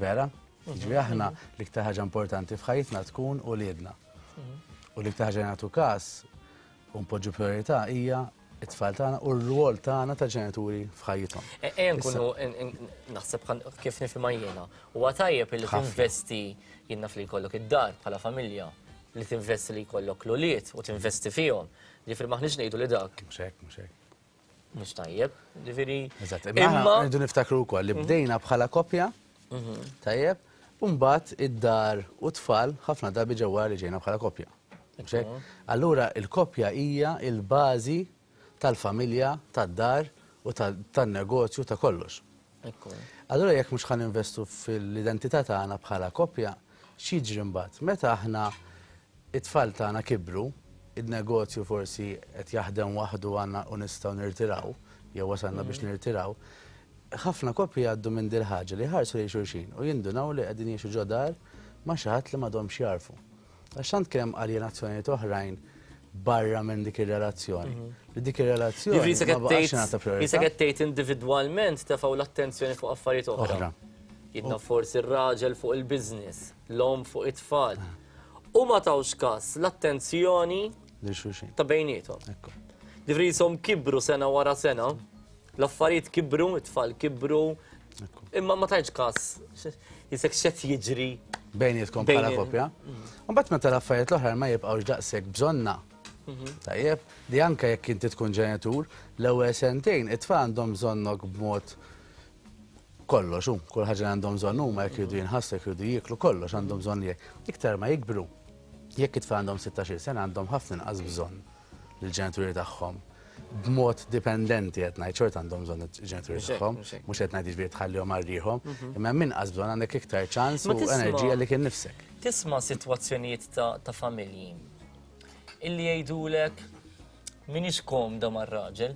Vera? Ġifieri aħna l-iktar ħaġa importanti f'ħajjitna tkun uliedna. U l-iktar ħaġa nagħtu każ u npoġġu priorità hija it-tfal tagħna u r-rwol tagħna ta' ġenituri f'ħajjithom. E, ejja nkunu naħseb kif nifhimha jiena. Huwa tajjeb li tinvesti jien naf li jkollok id-dar bħala familja, li tinvesti li jkollok l-ulied u tinvesti fihom. Ġifieri maħniex ngħidu li dak. Mhux hekk, mhux hekk. Mhux tajjeb, ġifieri. Eżatt, imma rridu niftakru wkoll li mhm. bdejna bħala koppja, mhm. tajjeb, u mbagħad id-dar u tfal ħafna drabi ġewwa li ġejna bħala koppja. Allura il-koppja hija il-bażi tal-familja, tad-dar u tan-negozju ta' kollox. Allura jekk mhux ħan investu fil-identità tagħna bħala koppja, x'jiġri mbagħad? Meta aħna it-tfal tagħna kibru, in-negozju forsi qed jaħdem waħdu għandna u nistgħu nirtiraw, jew wasalna biex nirtiraw, ħafna koppji jgħaddu minn dil-ħaġa li jħarsu lejn xulxin u jindunaw li qegħdin jgħixu ġo dar ma' xi ħadd li m'għadhomx jagħrfu. Għax tant kien hemm aljenazzjonijiet oħrajn barra minn dik ir-relazzjoni. Li dik ir-relazzjoni ma baqax ingħata priorità. Jisek qed tgħid individwalment tefgħu l-attenzjoni fuq affarijiet oħra. Jidna forsi r-raġel fuq il-business, l-omm fuq it-tfal. U ma tawx każ l-attenzjoni ta' bejniethom. Ġifieri jisom kibru sena wara sena, l-affarijiet kibru, it-tfal kibru, imma ma tajtx każ jisek xed jiġri. Bejnietkom bħala koppja. Mbagħad meta l-affarijiet l-oħra ma jibqgħux daqshekk bżonna. Mhm. Tajjeb, li anke jekk inti tkun ġenitur, l-ewwel sentejn it-tfal għandhom bżonnok b'mod kollox, u kull ħaġa li għandhom bżonn huma jekk jridu jinħassu, jekk jridu jieklu, kollox għandhom bżonn jekk. Iktar ma jikbru, jekk it-tfal għandhom 16 sena għandhom ħafna inqas bżonn lill-ġenituri tagħhom b'mod dipendenti qed ngħid xorta għandhom bżonn il-ġenituri tagħhom, mhux qed ngħid jiġifieri tħallihom għal riħhom, mhm. imma hemm inqas bżonn għandek iktar ċans u enerġija li kien nifsek. Tisma' sitwazzjonijiet ta' familji illi jgħidulek minix komda mar-raġel,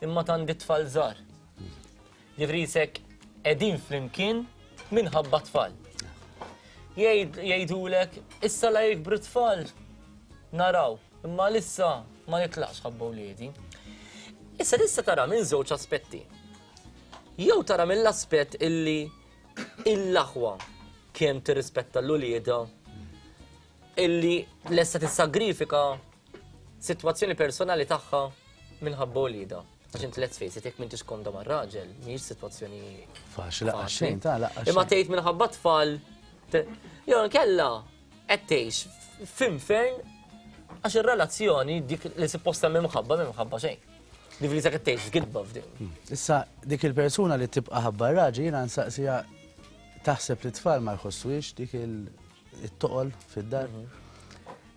imma tandi tfal żgħar. Ġifieri jisek qegħdin flimkien minħabba tfal. Jgħidulek issa la jikbru tfal naraw, imma lissa ma nitlaqx ħabba wliedi. Issa tista' tara minn żewġ aspetti. Jew tara mill-aspett illi l-aħwa kemm tirrispetta l-ulieda illi lesta tissagrifika sitwazzjoni personali tagħha minħabba ulieda. Għax inti let's face it, jekk m'intix komda mar-raġel, mhijiex sitwazzjoni faċli laqgħa xejn ta' laqgħa. Imma tgħid minħabba tfal jew nkella qed tgħix f'infern għax ir-relazzjoni dik li supposta mimħabba mimħabba xejn. Dik li qed tgħix f'gidba f'din. Hmm. Issa dik il-persuna li tibqa' ħabba raġel jiena nsaqsija taħseb li tfal ma jħossuhiex dik it-toqol fid-dar.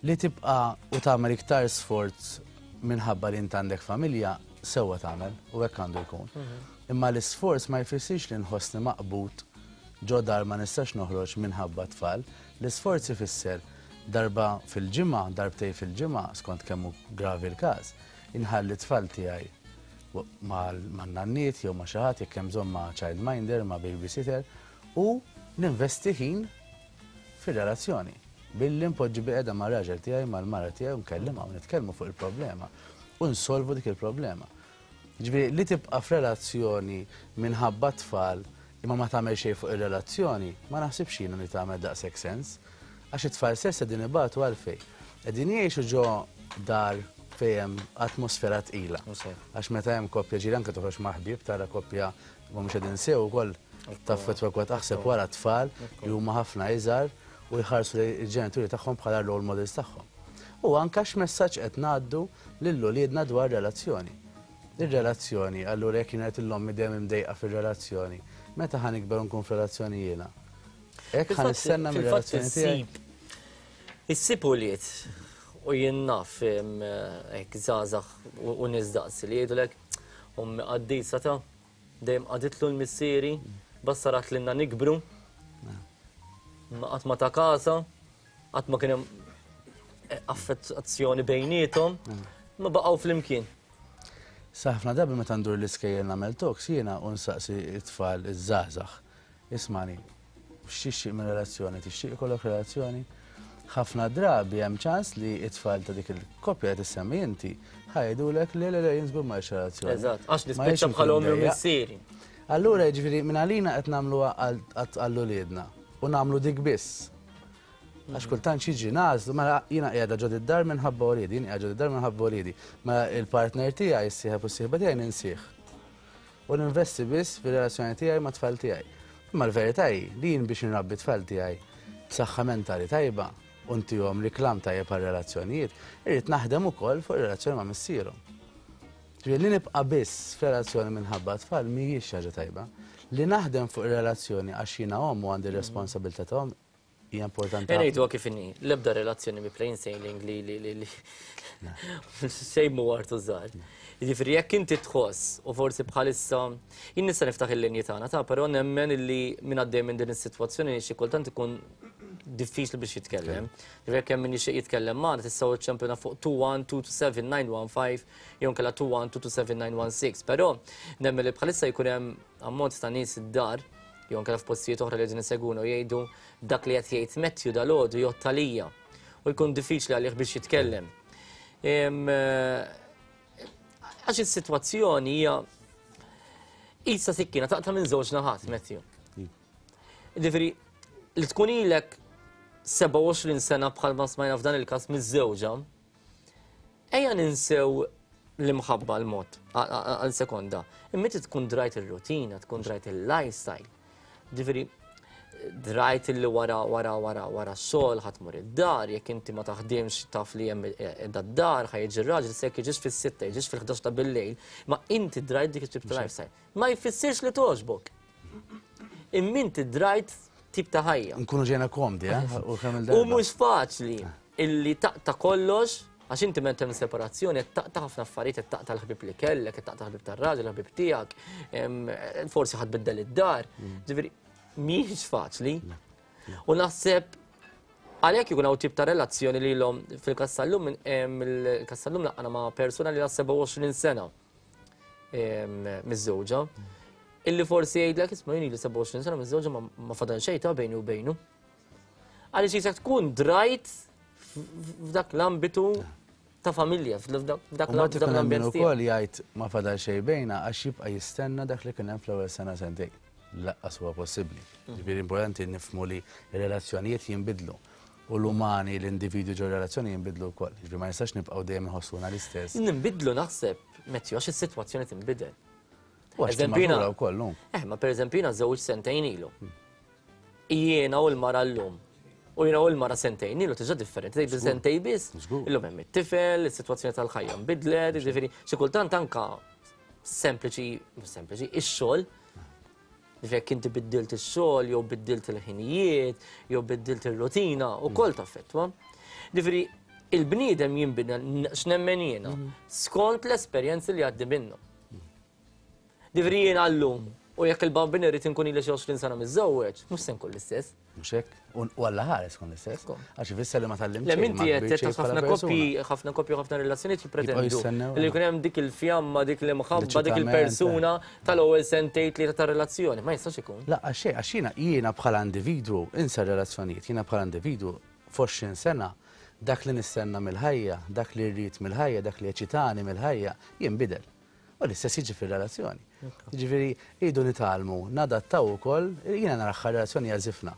Li tibqa' u tagħmel iktar sforz minħabba li int għandek familja, sewwa tagħmel u hekk għandu jkun. Imma l-isforz ma jfissirx li nħossni maqbud ġo dar ma nistax noħroġ minħabba t-tfal. L-isforz ifisser darba fil-ġimgħa, darbtejn fil-ġimgħa, skont kemm hu gravi l-każ, inħalli t-tfal tiegħi man-nanniet jew ma' xi ħadd jekk hemm bżonn ma' childminder, ma' babysitter u ninvesti ħin fir-relazzjoni. Billi npoġġi bilqiegħda mar-raġel tiegħi, mal-mara tiegħi u nkellimha u nitkellmu fuq il-problema u nsolvu dik il-problema. Jiġifieri li tibqa' f'relazzjoni minħabba t-tfal imma ma tagħmel xejn fuq ir-relazzjoni, ma naħsibx jiena li tagħmel daqshekk sens. Għax it-tfal stess qegħdin ibatu għalfejn? Qegħdin jgħixu ġo dar fejn hemm atmosfera tqila. Għax meta hemm koppja ġieli anke toħroġ ma' ħbieb tara koppja ma mhux qegħdin sew ukoll taffettwa kwa taħseb wara t-tfal li huma ħafna iżgħar u jħarsu lejn il-ġenituri tagħhom bħala role models tagħhom. U anke x'messaġġ qed ngħaddu lil uliedna dwar relazzjoni. Ir-relazzjoni, allura jekk jien qed l-ommi dejjem imdejqa fir-relazzjoni, meta ħa nikber u nkun f'relazzjoni jiena? Hekk ħa nistenna mir-relazzjoni tiegħi? Issib ulied u jien naf hekk żgħażagħ u nies daqsi li jgħidulek ommi qaddisa ta' dejjem qagħditlu l-missieri, bassarat lilna nikbru, ma qatt ma ta' kasha, qatt ma kien hemm affezzjoni bejniethom, ma baqgħu flimkien. Sa ħafna drabi meta ndur l-iskejjel nagħmel talks jiena u nsaqsi t-tfal iż-żgħażagħ. Ismani, x'tixtieq minn relazzjoni? Tixtieq ikollok relazzjoni? Ħafna drabi hemm ċans li t-tfal ta' dik il-koppja li tissemmi inti ħa jgħidulek le le le jien żgur ma rridx relazzjoni. Eżatt, għax nispiċċa bħal ommi u missieri. Allura jiġifieri minn għalina qed nagħmluha għal uliedna u nagħmlu dik biss. Għax kultant xi jiġri nagħżlu, mela jiena qiegħda ġo d-dar minħabba uliedi, jien qiegħda ġo d-dar minħabba uliedi. Mela il-partner tiegħi, is-sieħeb u s-sieħba tiegħi ninsih. U ninvesti biss fir-relazzjoni tiegħi mat-tfal tiegħi. Imma l-verità hi li jien biex inrabbi t-tfal tiegħi b'saħħa mentali tajba u ntihom riklam tajjeb għar-relazzjonijiet, irrid naħdem ukoll fuq ir-relazzjoni ma' missierhom. Ġifieri li nibqa' biss f'relazzjoni minħabba t-tfal mhijiex xi ħaġa tajba. Li naħdem fuq ir-relazzjoni għax jiena omm u għandi r-responsabilità ta' omm hija importanti. Ejja ngħiduha kif inhi, l-ebda relazzjoni mi plain sailing li li li li xejn mhu artu żgħar. Jiġifieri jekk inti tħoss u forsi bħalissa jien nista' niftaħ il-linji tagħna ta' però nemmen illi min għaddej minn din is-sitwazzjoni xi kultant ikun diffiċli biex jitkellem. Jiġifieri jekk hemm min jixtieq jitkellem magħna tistgħu iċċempilna fuq 21227915 jew inkella 21227916. Però nemmen li bħalissa jkun hemm ammont ta' nies id-dar jew inkella f'postijiet oħra li qegħdin isegwuna u jgħidu dak li qed jgħid Matthew dalgħodu jgħodd għalija u jkun diffiċli għalih biex jitkellem. Għax is-sitwazzjoni hija qisha sikkina taqta' minn żewġ naħat, Matthew. Ġifieri li tkun ilek 27 sena bħalma smajna f'dan il-każ miż-żewġa, Ejja ninsew l-imħabba l-mod għal sekonda. Imma inti tkun drajt ir-rutina, tkun drajt il-lifestyle. Ġifieri, drajt li wara wara wara wara x-xogħol ħa tmur id-dar, jekk inti ma taħdimx taf li hemm qiegħda d-dar, ħa jiġi r-raġel, se jekk jiġix fis-sitta, jiġix fil-ħdax ta' bil-lejl, ma inti drajt dik it-tip ta' lifestyle. Ma jfissirx li togħġbok. Imma inti drajt tip ta' ħajja. Nkunu ġejna komdi, eh? U kemm il-darba. U mhux faċli. Illi taqta' kollox, għax inti meta hemm separazzjoni qed taqta' ħafna affarijiet, qed taqta' l-ħbieb li kellek, qed taqta' l-ħbieb tar-raġel, l-ħbieb tiegħek, forsi ħa tbiddel id-dar. Ġifieri mhijiex faċli. U naħseb għalhekk ikun hawn tip ta' relazzjoni li ilhom fil-każ tal-lum, il-każ tal-lum laqqana ma' persuna li ilha 27 sena miżżewġa. Illi forsi jgħidlek isma' jien ili 27 sena miżżewġa ma fadal xejn ta' bejni u bejnu. Għaliex jisek tkun drajt f'dak l-ambitu ta' familja, f'dak l-ambjent. Ukoll jgħid ma fadal xejn bejna għax jibqa' jistenna dak li kien hemm fl-ewwel sena sentejn. Laqqas huwa possibbli. Ġifieri importanti nifhmu li r-relazzjonijiet jinbidlu u l-umani, l-individwi ġo relazzjoni jinbidlu wkoll. Ġifieri ma nistax nibqgħu dejjem inħossuna l-istess. Ninbidlu naħseb, Matthew, għax is-sitwazzjoni tinbidel. U għax timmatura wkoll, hu. Eh, ma pereżempju jiena żewġ sentejn ilu. Jiena u l-mara llum. U jiena u l-mara sentejn ilu tiġa differenti, tgħid sentej biss. Illum hemm it-tifel, is-sitwazzjoni tal-ħajja nbidlet, jiġifieri xi kultant anka sempliċi, sempliċi, ix-xogħol. Ġifieri jekk inti biddilt ix-xogħol jew biddilt il-ħinijiet, jew biddilt ir-rutina, ukoll taffettwa. Ġifieri il-bniedem jinbidel x'nemmen jiena skont l-esperjenzi li jgħaddi minnhom. Ġifieri jiena llum u jekk il-bambin irid inkun ili xi 20 sena miżżewweġ, mhux se nkun l-istess. Mhux hekk? U Alla ħares tkun l-istess. Għax ifisser li ma tgħallimt Le minti qed tgħid ħafna koppji, ħafna koppji ħafna relazzjonijiet jippretendu li jkun hemm dik il-fjamma, dik l-imħabba, dik il-persuna tal-ewwel sentejn tlieta ta' relazzjoni. Ma jistax ikun. Lanqas xejn, għax jiena jiena bħala individwu, insa r-relazzjonijiet, jiena bħala individwu F'20 sena, dak li nistenna mill-ħajja, dak li rrid mill-ħajja, dak li jeċitani mill-ħajja, jinbidel. U l-istess jiġi fir-relazzjoni. Jiġifieri rridu nitgħallmu nadattaw ukoll, jiena naraha relazzjoni hija żifna.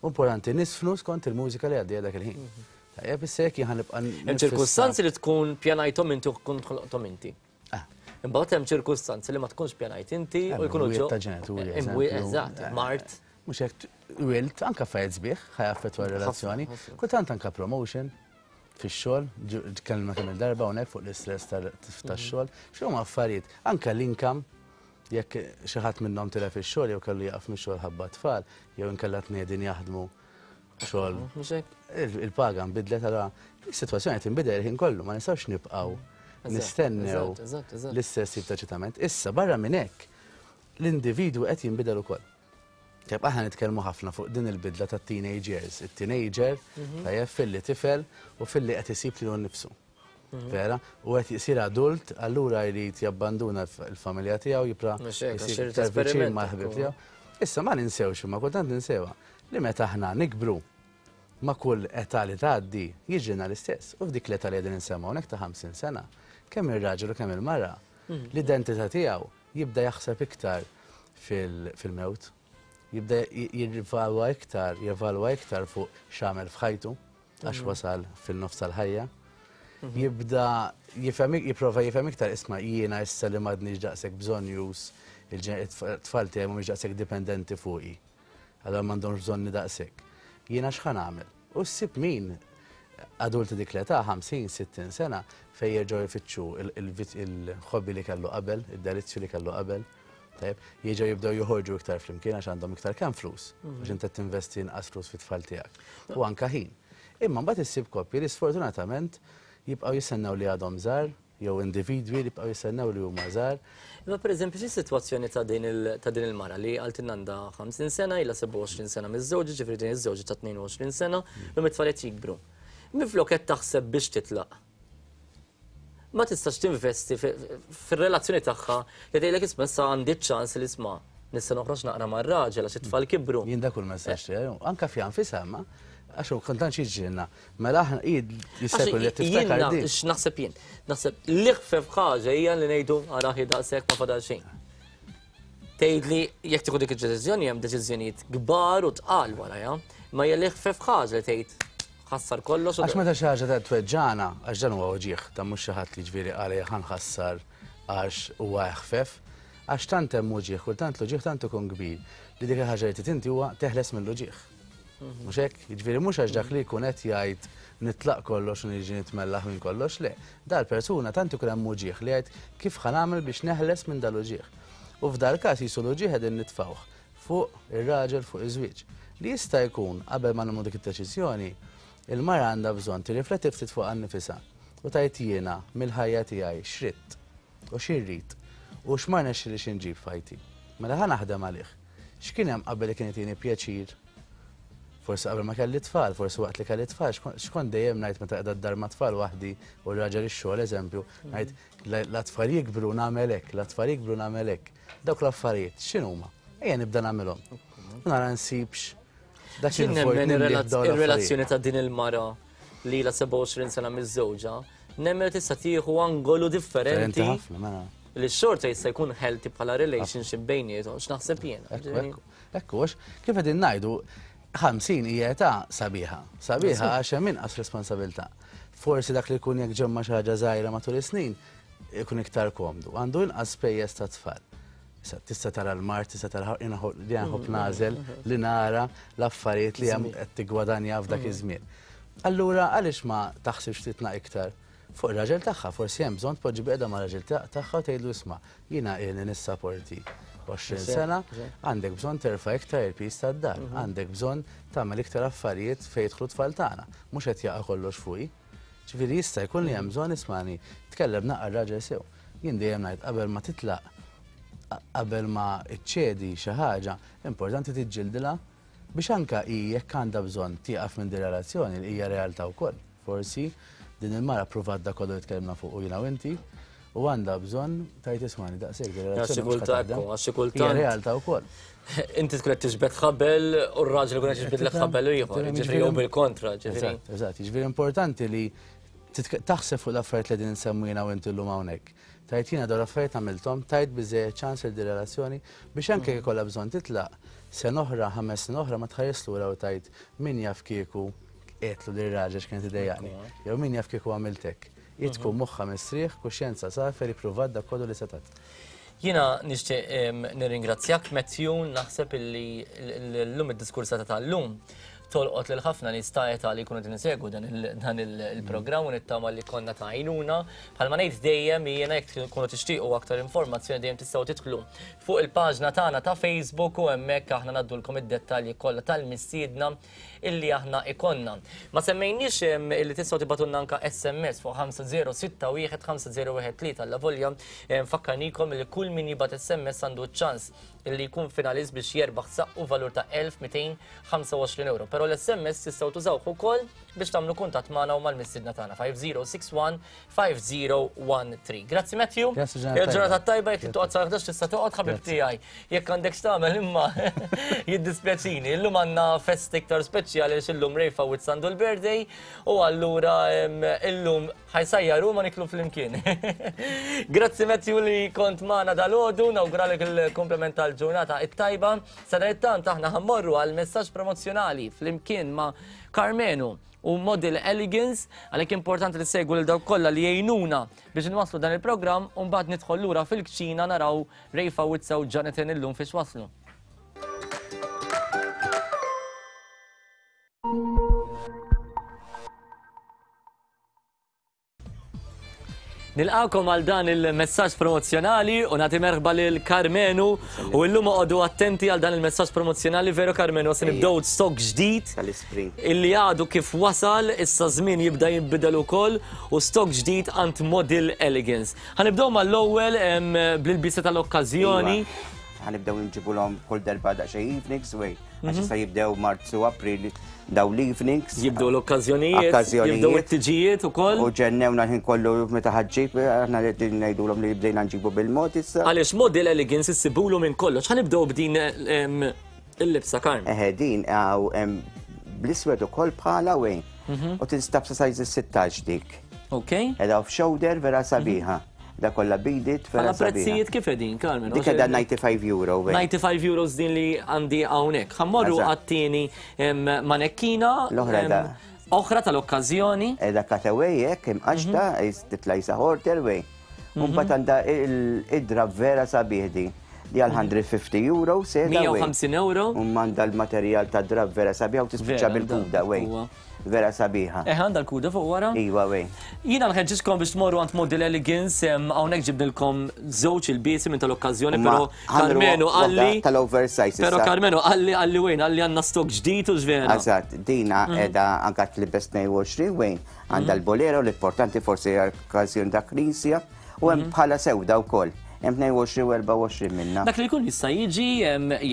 Importanti niżfnu skont il-mużika li għaddejja dak il-ħin. Tajjeb, issa jekk jien ħa nibqa' Hemm ċirkustanzi li tkun pjanajthom inti u tkun ħloqthom inti. Imbagħad hemm ċirkustanzi li ma tkunx pjanajt inti u jkunu ġew. Ta' ġenituri. Eżatt, mard. Mhux hekk wilt, anke affarijiet sbieħ ħa jaffettwa r-relazzjoni. Kultant anke promotion fix-xogħol, tkellimna kemm il-darba hawnhekk fuq l-istress tax-xogħol. X'huma affarijiet, anke l-income, jekk xi ħadd minnhom tilef ix-xogħol jew kellu jaqaf mix-xogħol ħabba tfal, jew inkella tnedin jaħdmu xogħol. Il-paga nbidlet allura is-sitwazzjoni qed tinbidel il-ħin kollu, ma nistgħux nibqgħu nistennew l-istess tip ta' eċitament. Issa barra minn hekk l-individwu qed jinbidel ukoll. Tajjeb, aħna nitkellmu ħafna fuq din il-bidla ta' teenage years. Il-teenager, tajjeb, filli tifel u filli qed isib lilu nnifsu. Vera? U qed isir adult, allura jrid jabbanduna l-familja tiegħu, jibqa' jsir iktar viċin mal-ħbieb tiegħu. Issa ma ninsewx imma kultant ninsewha li meta aħna nikbru ma' kull età li tgħaddi jiġrilna l-istess. U f'dik l-età li qegħdin insemmu hawnhekk ta' 50 sena, kemm ir-raġel u kemm il-mara, l-identità tiegħu jibda jaħseb iktar fil-mewt, jibda jirrivalwa iktar, jevalwa iktar fuq x'għamel f'ħajtu, għax wasal fil-nofs tal-ħajja. Jibda jifhem, jipprova jifhem iktar isma' jiena issa li m'għadniex daqshekk bżonnjuż, it-tfal tiegħi mhumiex daqshekk dipendenti fuqi. Allura m'għandhomx bżonni daqshekk. Jiena x'ħa nagħmel? U ssib min adulti dik l-età, 50, 60 sena, fejn jerġgħu jfittxu il-hobby li kellu qabel, id-delizzju li kellu qabel. Tajjeb, jerġgħu jibdew joħorġu iktar flimkien għax għandhom iktar kemm flus, għax inti qed tinvesti inqas flus fit-tfal tiegħek. U anke ħin. Imma mbagħad issib koppji li sfortunatament jibqgħu jistennew li għadhom żgħar, jew individwi li jibqgħu jistennew li huma żgħar. Imma pereżempju xi sitwazzjoni ta' din ta' din il-mara li qaltilna għandha 50 sena, ilha 27 sena miżżewġa, ġifieri din iż-żewġa ta' 22 sena, illum it-tfal qed jikbru. Minflok qed taħseb biex titlaq. Ma tistax tinvesti fir-relazzjoni tagħha li tgħidlek isma' issa għandi ċ-ċans li isma' nista' noħroġ naqra mar-raġel għax it-tfal kibru. Jien dak hu l-messaġġ tiegħi, anke fiha nfisha imma għax hu kultant xi jiġrilna. Mela aħna hi jista' jkun li qed tiftakar din. X'naħseb jien? Naħseb l-iħfef ħaġa hija li ngħidu ara hi daqshekk ma fadal xejn. Tgħidli jekk tieħu dik id-deċiżjoni hemm deċiżjonijiet kbar u tqal warajha, imma hija l-iħfef ħaġa li tgħid ħassar kollox. Għax meta xi ħaġa ta' tweġġana, għax dan huwa uġigħ, dan mhux xi ħadd li ġifieri qal ejja ħa nħassar għax huwa eħfef, għax tant hemm uġigħ, kultant l-uġigħ tant ikun kbir li dik il-ħaġa li trid inti huwa teħles mill-uġigħ. Mhux hekk? Jiġifieri mhux għax dak li jkun qed jgħid nitlaq kollox u niġi nitmellaħ minn kollox, le. Dal-persuna tant ikun hemm uġigħ li jgħid kif ħa nagħmel biex neħles minn dal-uġigħ. U f'dal-każ qisu l-uġigħ qegħdin nitfgħuh fuq ir-raġel fuq iż-żwieġ. Li jista' jkun qabel ma nagħmlu dik id-deċiżjoni, il-mara għandha bżonn tirrifletti ftit fuqha nnifisha u tgħid jiena mill-ħajja tiegħi x'ridt u xi rrid u x'ma rnexxilix inġib f'ħajti. Mela ħa naħdem għalih. X'kien hemm qabel li kien itini pjaċir? Forsi qabel ma kelli tfal, forsi waqt li kelli tfal, x'kont dejjem ngħid meta qiegħda d-dar ma' tfal waħdi u r-raġel ix-xogħol eżempju, ngħid la tfal jikbru nagħmel hekk, la tfal jikbru nagħmel hekk. Dawk l-affarijiet x'inhuma? Ejja nibda nagħmilhom. U nara nsibx dak il-vojt Il-relazzjoni ta' din il-mara li ilha 27 sena miżżewġa, nemmen li tista' tieħu angolu differenti. Mela. Li xorta jista' jkun healthy bħala relationship bejniethom, x'naħseb jien. Ekku, għax kif qegħdin ngħidu, 50 hija età sabiħa. Sabiħa għax hemm inqas responsabilità. Forsi dak li jkun jekk ġemma xi ħaġa żgħira matul is-snin, ikun iktar komdu. Għandu inqas spejjeż ta' tfal. Issa tista' tara l-mard, tista' tara li nħobb nagħżel li nara l-affarijiet li hemm qed tiggwadanja f'dak iż-żmien. Allura għaliex ma taħsibx titna iktar fuq ir-raġel tagħha, forsi hemm bżonn tpoġġi biqda ma' raġel tagħha u tgħidlu isma' jiena ilni nissaporti 20 sena, għandek bżonn terfa' iktar il-piż tad-dar, għandek bżonn tagħmel iktar affarijiet fejn jidħlu t-tfal tagħna, mhux qed jaqa' kollox fuqi. Ġifieri jista' jkun li hemm bżonn ismani, tkellem naqra r-raġel sew. Jien dejjem ngħid qabel ma titlaq, qabel ma ċċedi xi ħaġa, importanti tiġġildilha biex anke hi jekk għandha bżonn tieqaf minn din relazzjoni li hija realtà wkoll. Forsi din il-mara ppruvat dak kollu li tkellimna fuqu jiena u inti. U għandha bżonn tgħid ismagħni daqshekk din ir-relazzjoni. Għax xi kultant, għax xi kultant. Hija realtà wkoll. Inti tkun qed tiġbed ħabel u r-raġel ikun qed jiġbidlek ħabel ieħor, jiġifieri jew bil-kontra, ġifieri. Eżatt, eżatt, jiġifieri importanti li taħseb fuq l-affarijiet li qegħdin insemmu jiena u inti llum hawnhekk. Tgħid jiena dawn l-affarijiet għamilthom, tajt biżżejjed ċans lil din relazzjoni biex anke jekk ikollha bżonn titlaq, sena oħra, ħames snin oħra ma tħares lura u tgħid min jaf kieku għedtlu lir-raġel x'kien qed idejjaqni, jew min jaf kieku għamilt hekk. Hi tkun moħħha mistrieħ, kuxjenza safja li ppruvat dak kollu li setgħet. Jiena nixtieq nirringrazzjak Matthew, naħseb illi llum id-diskursata tal-lum tolqot lil ħafna nies ta' età li jkunu qegħdin isegwu dan il-programm u nittama li konna ta' għajnuna. Bħalma ngħid dejjem jiena jekk tkunu tixtiequ aktar informazzjoni dejjem tistgħu tidħlu fuq il-paġna tagħna ta' Facebook u hemmhekk aħna ngħaddulkom id-dettalji kollha tal-mistiedna illi aħna ikollna. Ma semmejniex illi tistgħu tibgħatulna anke SMS fuq 5061 5013 allavolja nfakkarnikom illi kull min jibgħat SMS għandu ċ-ċans illi jkun finalist biex jerbaħ saqqu valur ta' 1225 euro. Però l-SMS tistgħu tużawh ukoll biex tagħmlu kuntatt magħna u mal-mistiedna tagħna 5061 5013. Grazzi Matthew. Grazzi ġurnata Il-ġurnata tajba jekk toqgħod sa 11 tista' toqgħod ħabib tiegħi. Jekk għandek x'tagħmel imma jiddispjaċini. Illum għandna fest iktar speċjali għax illum Ray Fawitz għandu l-birthday u allura illum ħajsajjar ma niklu flimkien. Grazzi Matthew li kont magħna dalgħodu, nawguralek il-komplement tal-ġurnata it-tajba. Sadanittant aħna ħammorru għal messaġġ promozzjonali flimkien ma' Karmenu u Model Elegance, għalhekk importanti li segwu lil dawk kollha li jgħinuna biex inwasslu dan il-programm u mbagħad nidħol lura fil-kċina naraw Ray Fawizza u Jonathan illum fiex waslu. Nilqakom għal dan il-messaġġ promozzjonali u nagħti merħba lil Karmenu u llum oqogħdu attenti għal dan il-messaġġ promozzjonali veru Karmenu se nibdew stock ġdid tal-ispring illi għadu kif wasal issa żmien jibda jinbidel ukoll u stock ġdid għand Model Elegance. Ħanibdew mal-ewwel bl-ilbiesa tal-okkażjoni. Iva. Ħanibdew nġibulhom kull darba daqsxejn evenings way. Għax issa jibdew Marzu, April, daw l-evenings. Jibdew l-okkażjonijiet, jibdew it-tiġijiet ukoll. U ġennewna l-ħin kollu meta ħaġġib, aħna li ngħidulhom li bdejna nġibu bil-mod issa. Għaliex Model Elegance issibulu minn kollox. Ħanibdew b'din il-libsa Karm. Eħe din hawn bl-iswed ukoll bħala wejn. U tinstab sa size 16 dik. Ok. Edha off shoulder vera sabiħa. Da kollha bidit vera Bħala prezzijiet kif qegħdin, Carmen? Dik qiegħda 95 euro. 95 euros din li għandi hawnhekk. Ħammorru għat-tieni manekkina. L-oħra da. Oħra tal-okkażjoni. Qiegħda cutaway hekk imqaxta, titla' jisa horter way. Mbagħad għandha id-drab vera sabiħ di. Di għal 150 euro seda. 150 euro. U għandha l-materjal ta' drab vera sabiħ u tispiċċa bil-kuda way. Vera sabiħa. Eh, għandha l-kuda fuq wara? Iva, wej. Jiena nħeġġiġkom biex tmorru għand Model Elegance, hawnhekk ġibnilkom żewġ ilbiesi minn tal-okkażjoni, però Karmenu qalli. Tal-oversize. Però Karmenu qalli qalli wejn, qalli għandna stock ġdid u x'vera. Eżatt, dina qiegħda anke tlibes 22 wejn, għandha l-bolero l-importanti forsi għall-okkażjoni ta' knisja. U hemm bħala sewda wkoll. Hemm 22 u 24 minna. Dak li jkun jista' jiġi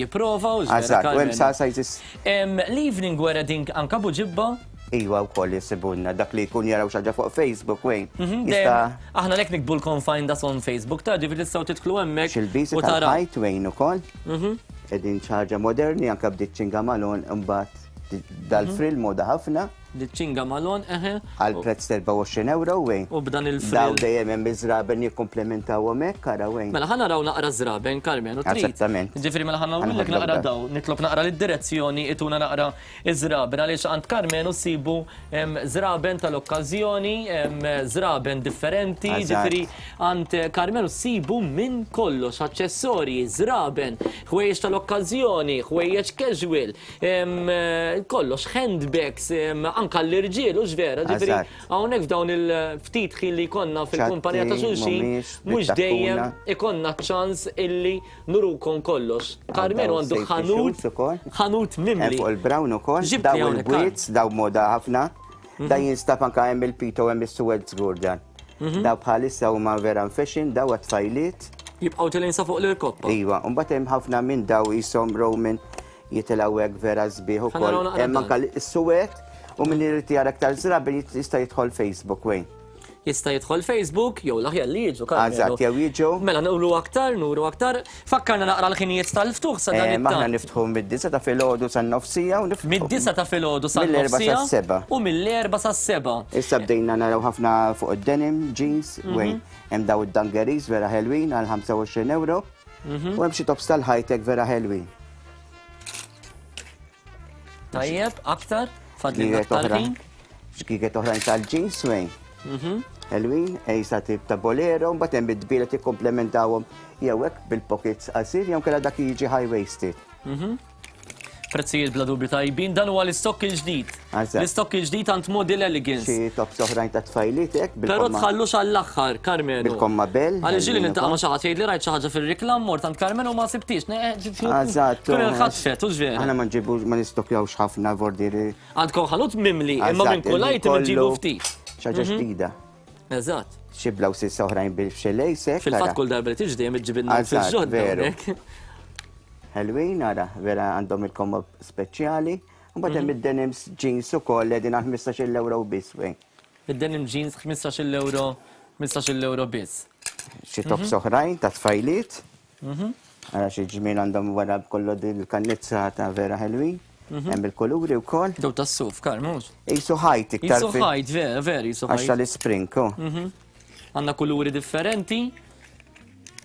jipprova u x'vera. Eżatt, u hemm sa sizes. L-evening wear din anka buġibba? Iwa wkoll jisibulna dak li jkun jaraw xi ħaġa fuq Facebook wejn. Jista' Aħna lek nikbulkom find us on Facebook ta' ġifieri tistgħu tidħlu hemmhekk. Xil-bisi tal-ħajt wejn ukoll. Qegħdin xi ħaġa moderni anke bdiet ċinga malon imbagħad dal-frill moda ħafna. Diċ-ċinga malon, eħe. Għal prezz ta' 24 euro, wejn. U b'dan il-frill. Daw dejjem hemm iż-żraben jikkumplementawhom hekk, ara wejn. Mela ħa naraw naqra żraben, Carmen, u trid. Eżattament. Ġifieri mela ħa nagħmlulek naqra daw, nitlob naqra lid-direzzjoni ituna naqra iż-żraben għaliex għand Carmen u ssibu żraben tal-okkażjoni, żraben differenti, ġifieri għand Carmen u ssibu minn kollox, aċċessorji, żraben, ħwejjeġ tal-okkażjoni, ħwejjeġ casual, Kollox, handbags, anka l-irġiel, u vera, ġifieri hawnhekk f'dawn il-ftit ħin li jkollna fil-kumpanija ta' xulxin, mhux dejjem ikonna ċans illi nurukom kollox. Karmenu għandu ħanut, ħanut mimli. Fuq il-brown ukoll, daw il-bwiet, daw moda ħafna, da jinstab anka hemm il-pito hemm is-suwed żgur dan. Daw bħalissa huma vera fashion, daw għat-tfajliet. Jibqgħu tilgħin sa fuq l-irkoppa. Iva, u mbagħad hemm ħafna minn daw qishom Roman jitilgħu hekk vera sbieħ ukoll. Hemm anke s-suwed u min irid jara aktar żraben jista' jidħol Facebook wejn. Jista' jidħol Facebook jew l-aħjar li jiġu Karmenu. Eżatt, jew jiġu. Mela nuru aktar, nuru aktar. Fakkarna naqra l-ħinijiet tal-ftuħ sa dan Eh, it-tant. Aħna niftħu mid-disa ta' filgħodu san-nofsija u niftħu. Mid-disa ta' filgħodu sa' Mill-erba' nofsija sas-seba'. U mill-erba' sas-seba'. Issa bdejna naraw ħafna fuq id-denim, jeans, wejn hemm daw id-dungarees vera ħelwin għal 25 euro. U hemm xi tops tal-high-tech vera ħelwin. Tajjeb, aktar? Fadlilna Ġgiget aktar oħra. ħin? Ġgiget oħrajn tal-jeans wejn. Ħelwin, ejsa tip ta' bolero, mbagħad hemm id-dbielet jikkomplementawhom jew hekk bil-pockets qasir jew kellha dak jiġi high-waisted. Prezzijiet bla dubju tajbin, dan huwa l-istokk il-ġdid. Eżatt. L-istokk il-ġdid għand Model Elegance. Xi tops oħrajn ta' tfajliet hekk Però bil-komma. tħallux għall-aħħar, Karmenu. Bil-komma bell. Għaliex ġieli ħelwin niltaqa' ma' ukoll. xi ħadd jgħidli rajt xi ħaġa fir-reklam mort għand Karmenu ma sibtix. Eżatt. Tkun inħatfet, hux vera. Aħna ma nġibux ma nistokjawx ħafna vordieri. Għandkom ħanut mimli, imma minn kull item iġibu ftit. Xi ħaġa ġdida. Eżatt. Xi blouses oħrajn bil-xelejsek. Fil-fatt kull darba li tiġi dejjem iġġibilna Eżatt, fil-ġodda. veru. hawnhekk. Ħelwin, ara, vera għandhom il-komma speċjali. Mbagħad hemm id-denims jeans ukoll qegħdin għal 15 euro biss wejn. Id-denim jeans 15 euro, 15 euro biss. Xi tops oħrajn ta' tfajliet. Ara xi ġmiel għandhom wara kollu din il-kannizza ta' vera ħelwin. Hemm il-kuluri wkoll. Daw tas-suf, Karm, mhux? Isu ħajt iktar. Jisu ħajt, vera, vera, jisu Għax ħajt. tal-ispring, oh. Għandna kuluri differenti.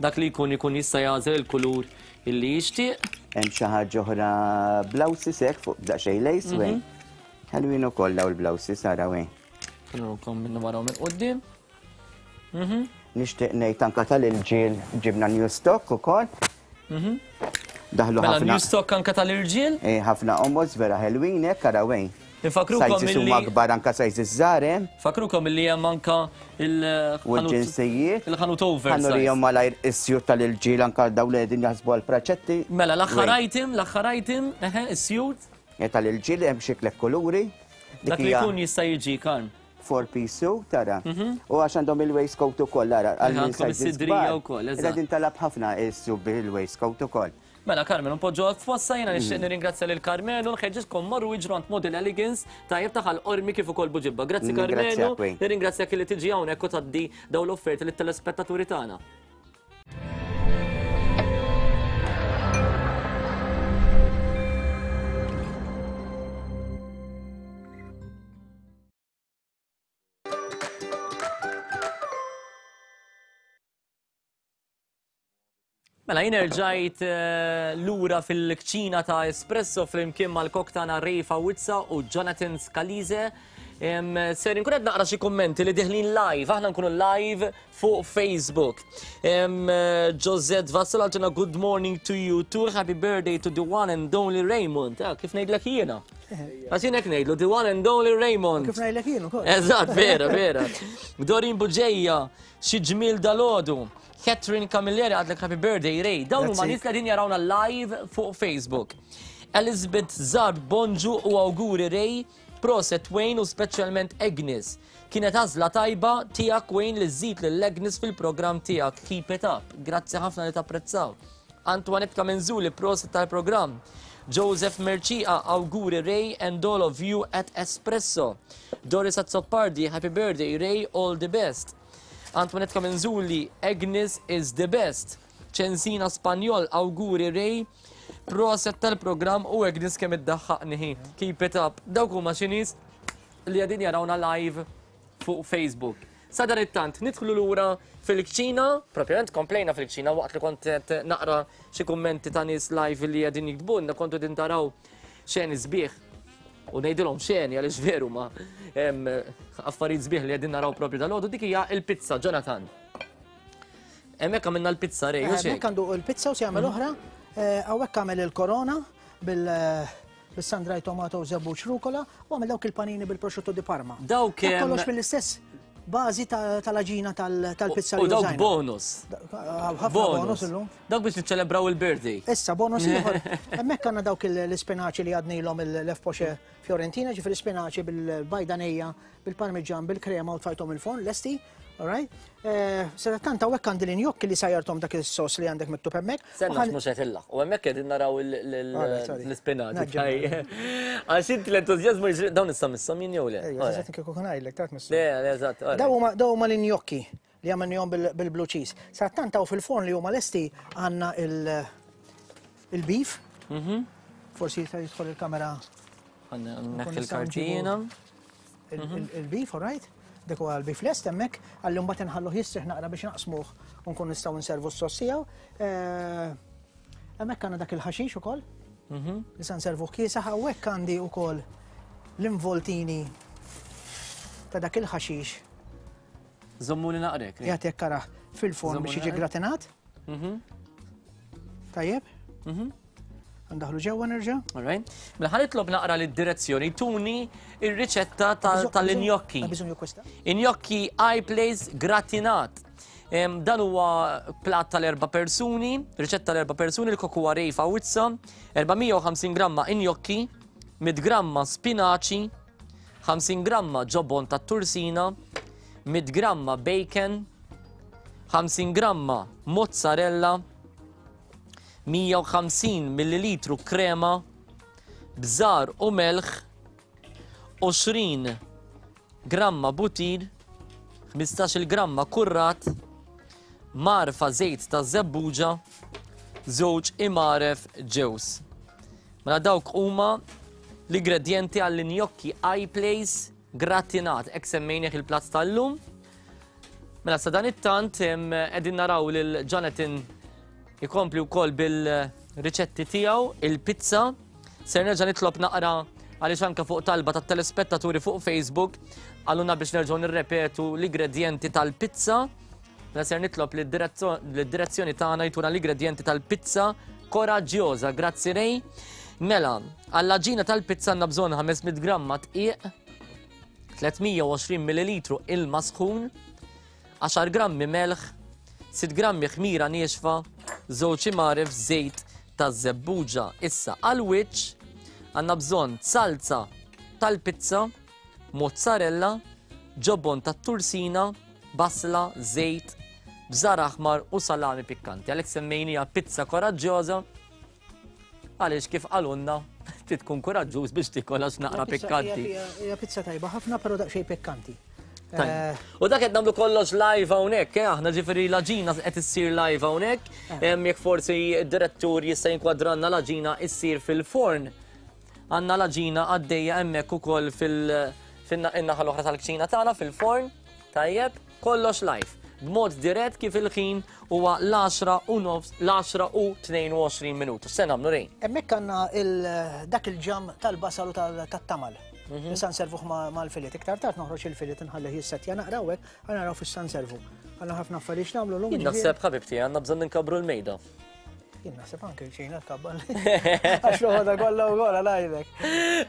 Dak li jkun ikun jista' jagħżel il-kulur illi jixtieq. Hemm xi ħaġa oħra blouses hekk fuq daqsxejn lace wejn. Ħelwin ukoll daw il-blouses ara wejn. Nurkom minn wara u minn quddiem. Nixtieq ngħid anke tal-irġiel ġibna new stock ukoll. Daħlu Mela ħafna new stock anke tal-irġiel. Eh, ħafna omos vera ħelwin hekk ara wejn. Infakrukom Sizes huma illi kbar anke sizes żgħar hemm. Fakrukom illi hemm anka U il-ħanut l-ġinsijiet. il-ħanut Ħanurihom oversize. malajr is-sjut tal-irġiel anke dawn li qegħdin jaħsbu għall-praċetti. Mela l-aħħar Wejn. item, l-aħħar item, eħe, is-sjut. Eh, Tal-irġiel hemm xi tliet kuluri. Dik Dak li hija jkun jista' jiġi Karm. four piece suit tara. U għax għandhom il-waistcoat ukoll ara għal min Għandkom sizes is-sidrija kbar. wkoll, eżatt. Qegħdin talab ħafna is-suit bil-waistcoat ukoll. Mela Carmen, npoġġu f'fossa jiena nixtieq nirringrazzja lil Carmenu, nħeġġitkom morru iġru għand Model Elegance tajjeb ta' Ħal Qormi kif ukoll Buġibba. Grazzi Carmenu, Nirringrazzjak, Wayne. nirringrazzjak li tiġi hawnhekk u tgħaddi dawn l-offerti lit-telespettaturi tagħna. Mela, jien erġajt lura fil-kċina ta' Espresso flimkien mal-kok tagħna Ray Fawizza u Jonathan Scalise. Ser inkun qed naqra xi kummenti li deħlin live, aħna nkunu live fuq Facebook. Josette Vassal għaltina good morning to you too, happy birthday to the one and only Raymond. Ah, kif ngħidlek jiena? Għax jien hekk ngħidlu the one and only Raymond. Kif ngħidlek jien ukoll. Eżatt, vera, vera. Dorin Buġeja, xi ġmiel dalodu. Catherine Camilleri għadlek happy birthday, Ray. Dawn huma Grazzi. nies li qegħdin jarawna live fuq Facebook. Elizabeth Zarb, bonġu u awguri Ray, proset Wayne u speċjalment Agnes. Kienet għażla tajba tiegħek Wayne li żżid lil Agnes fil-programm tiegħek. Keep it up. Grazzi ħafna li tapprezzaw. Antoinette Kamenzuli, proset tal-programm. Joseph Mercia, awguri Ray and all of you at Espresso. Doris Azzopardi, happy birthday Ray, all the best. Antoinette Kamenzuli, Agnes is the best. Ċensina Spanjol, awguri Ray, proset tal-programm u Agnes kemm iddaħħaqni hi. Keep it up. Dawk huma xi nies li qegħdin jarawna live fuq Facebook. Sadanittant, nidħlu lura fil-kċina, propjament komplejna fil-kċina waqt li kont qed naqra xi kummenti ta' nies live li qegħdin jiktbulna, kontu qegħdin taraw xeni sbieħ. U ngħidilhom xeni għaliex veru ma affarijiet sbieħ li qegħdin naraw propju dal-għodu, dik hija l-pizza, Jonathan. Hemmhekk għamilna l-pizza Ray, u Hemmhekk xejn. għandu l-pizza u se jagħmel oħra, hawnhekk għamel il-korona bil-sun-dried tomato u żebbuġ rucola u għamel dawk il-panini bil-prosciutto di Parma. Dawk, Dak kollox mill-istess bażi tal-aġina tal-pizza U li dawk użajna. bonus. Ħafna bonus illum. Dawk biex niċċelebraw il-birthday. Issa, bonus ieħor. Hemmhekk għandna dawk l-ispinaċi li għadnilhom il-Lefpoxe Fiorentina, ġifieri spinaċi bil-bajdanija, bil-parmiġan, bil-krema u tfajthom il-forn, lesti. All right? Eh, Sadattant hawnhekk għandi l-injokki li sajjarthom dak is-sos li għandek miktub hemmhekk. Senna mhux qed illaq. U hemmhekk qegħdin naraw l-ispinaċi. Għax inti l-entużjażmu jiġri dawn issa misshom jien jew le? Ejja, eżatt kieku ngħidlek taf misshom. Le, le, eżatt. Daw huma l-injokki li għamilnihom bil-blue cheese. Sadattant hawn fil-forn li huma lesti għandna il-beef. Mhm. Forsi jista' jidħol il-kamera. Neħħi il-kartina. Il-beef, all right? Dik huwa l-beef lest hemmhekk, għalli mbagħad inħalluh jistrieħ naqra biex naqsmuh u nkun nistgħu nservu s-sos tiegħu. Eh, hemmhekk għandna dak il-ħaxix ukoll. Mhm. Li se nservuh kiesaħ hawnhekk għandi wkoll l-involtini ta' dak il-ħaxix. Żommuni naqrek. Jagħti karaħ fil-forn biex jiġi gratinat. Mhm. Tajjeb? Mhm. Ndaħlu ġewwa nerġa'. All right. Mela ħa nitlob naqra lid-direzzjoni tuni ir-riċetta tal-injokki. Injokki iPlace gratinat. Dan huwa plat tal-erba' persuni, riċetta tal-erba' persuni, l-kok huwa Ray Fawizza, 450 gramma injokki, 100 gramma spinaċi, 50 gramma ġobon tat-tursina, 100 gramma bacon, 50 gramma mozzarella, 150 millilitru krema, bżar u melħ, 20 gramma butir, 15-il gramma kurrat, mgħarfa żejt ta' żebbuġa, żewġ imgħaref ġewż. Mela dawk huma l-ingredjenti għall-injokki iPlace gratinat, hekk semmejnieh il-platt tal-lum. Mela sadanittant qegħdin naraw lil Jonathan ikompli wkoll bil-riċetti tiegħu, il-pizza. Ser nerġa' nitlob naqra għaliex anke fuq talba tat-telespettaturi fuq Facebook għaluna biex nerġgħu nirrepetu l-ingredjenti tal-pizza. Mela ser nitlob lid-direzzjoni tagħna jtuna l-ingredjenti tal-pizza koraġġjoża. Grazzi Ray. Mela, għall-għaġina tal-pizza għandna bżonn 500 gramma dqiq, 320 millilitru ilma sħun, 10 grammi melħ, 6 grammi ħmira niexfa, żewġ imgħaref żejt taż-żebbuġa. Issa għall-wiċċ għandna bżonn salza tal-pizza, mozzarella, ġobon tat-tursina, basla, żejt, bżar aħmar u salami pikkanti. Għalhekk semmejniha pizza koraġġjoża Għaliex kif qalulna, trid tkun kuraġġuż biex tikol għax naqra pikkanti. Hija pizza tajba ħafna, però daqsxejn pikkanti. Eh, u dak qed nagħmlu kollox live hawnhekk, eh, aħna ġifieri l-aġina qed issir live hawnhekk, eh. jekk forsi d-direttur jista' jinkwadranna l-aġina issir fil-forn. Għandna l-aġina għaddejja hemmhekk ukoll fil-naħa l-oħra tal-kċina tagħna fil-forn. Tajjeb, kollox live, b'mod dirett kif il-ħin huwa l-għaxra u nofs, l-għaxra u 22 minuta. X'se nagħmlu Ray? Hemmhekk għandna dak il-ġamm tal-basal u tat-tamal. Mhm. Issa nservuh mal-filet. Iktar tard noħroġ il-filet inħallih jissettja naqra u hekk, ħa naraw fiex sa nservu. Għandna ħafna affarijiet x'nagħmlu llum. Jien naħseb ħabibti għandna bżonn inkabbru l-mejda. Jien naħseb anke xejn tkabbar. Għax l-ħoda kollha u kollha ngħidlek.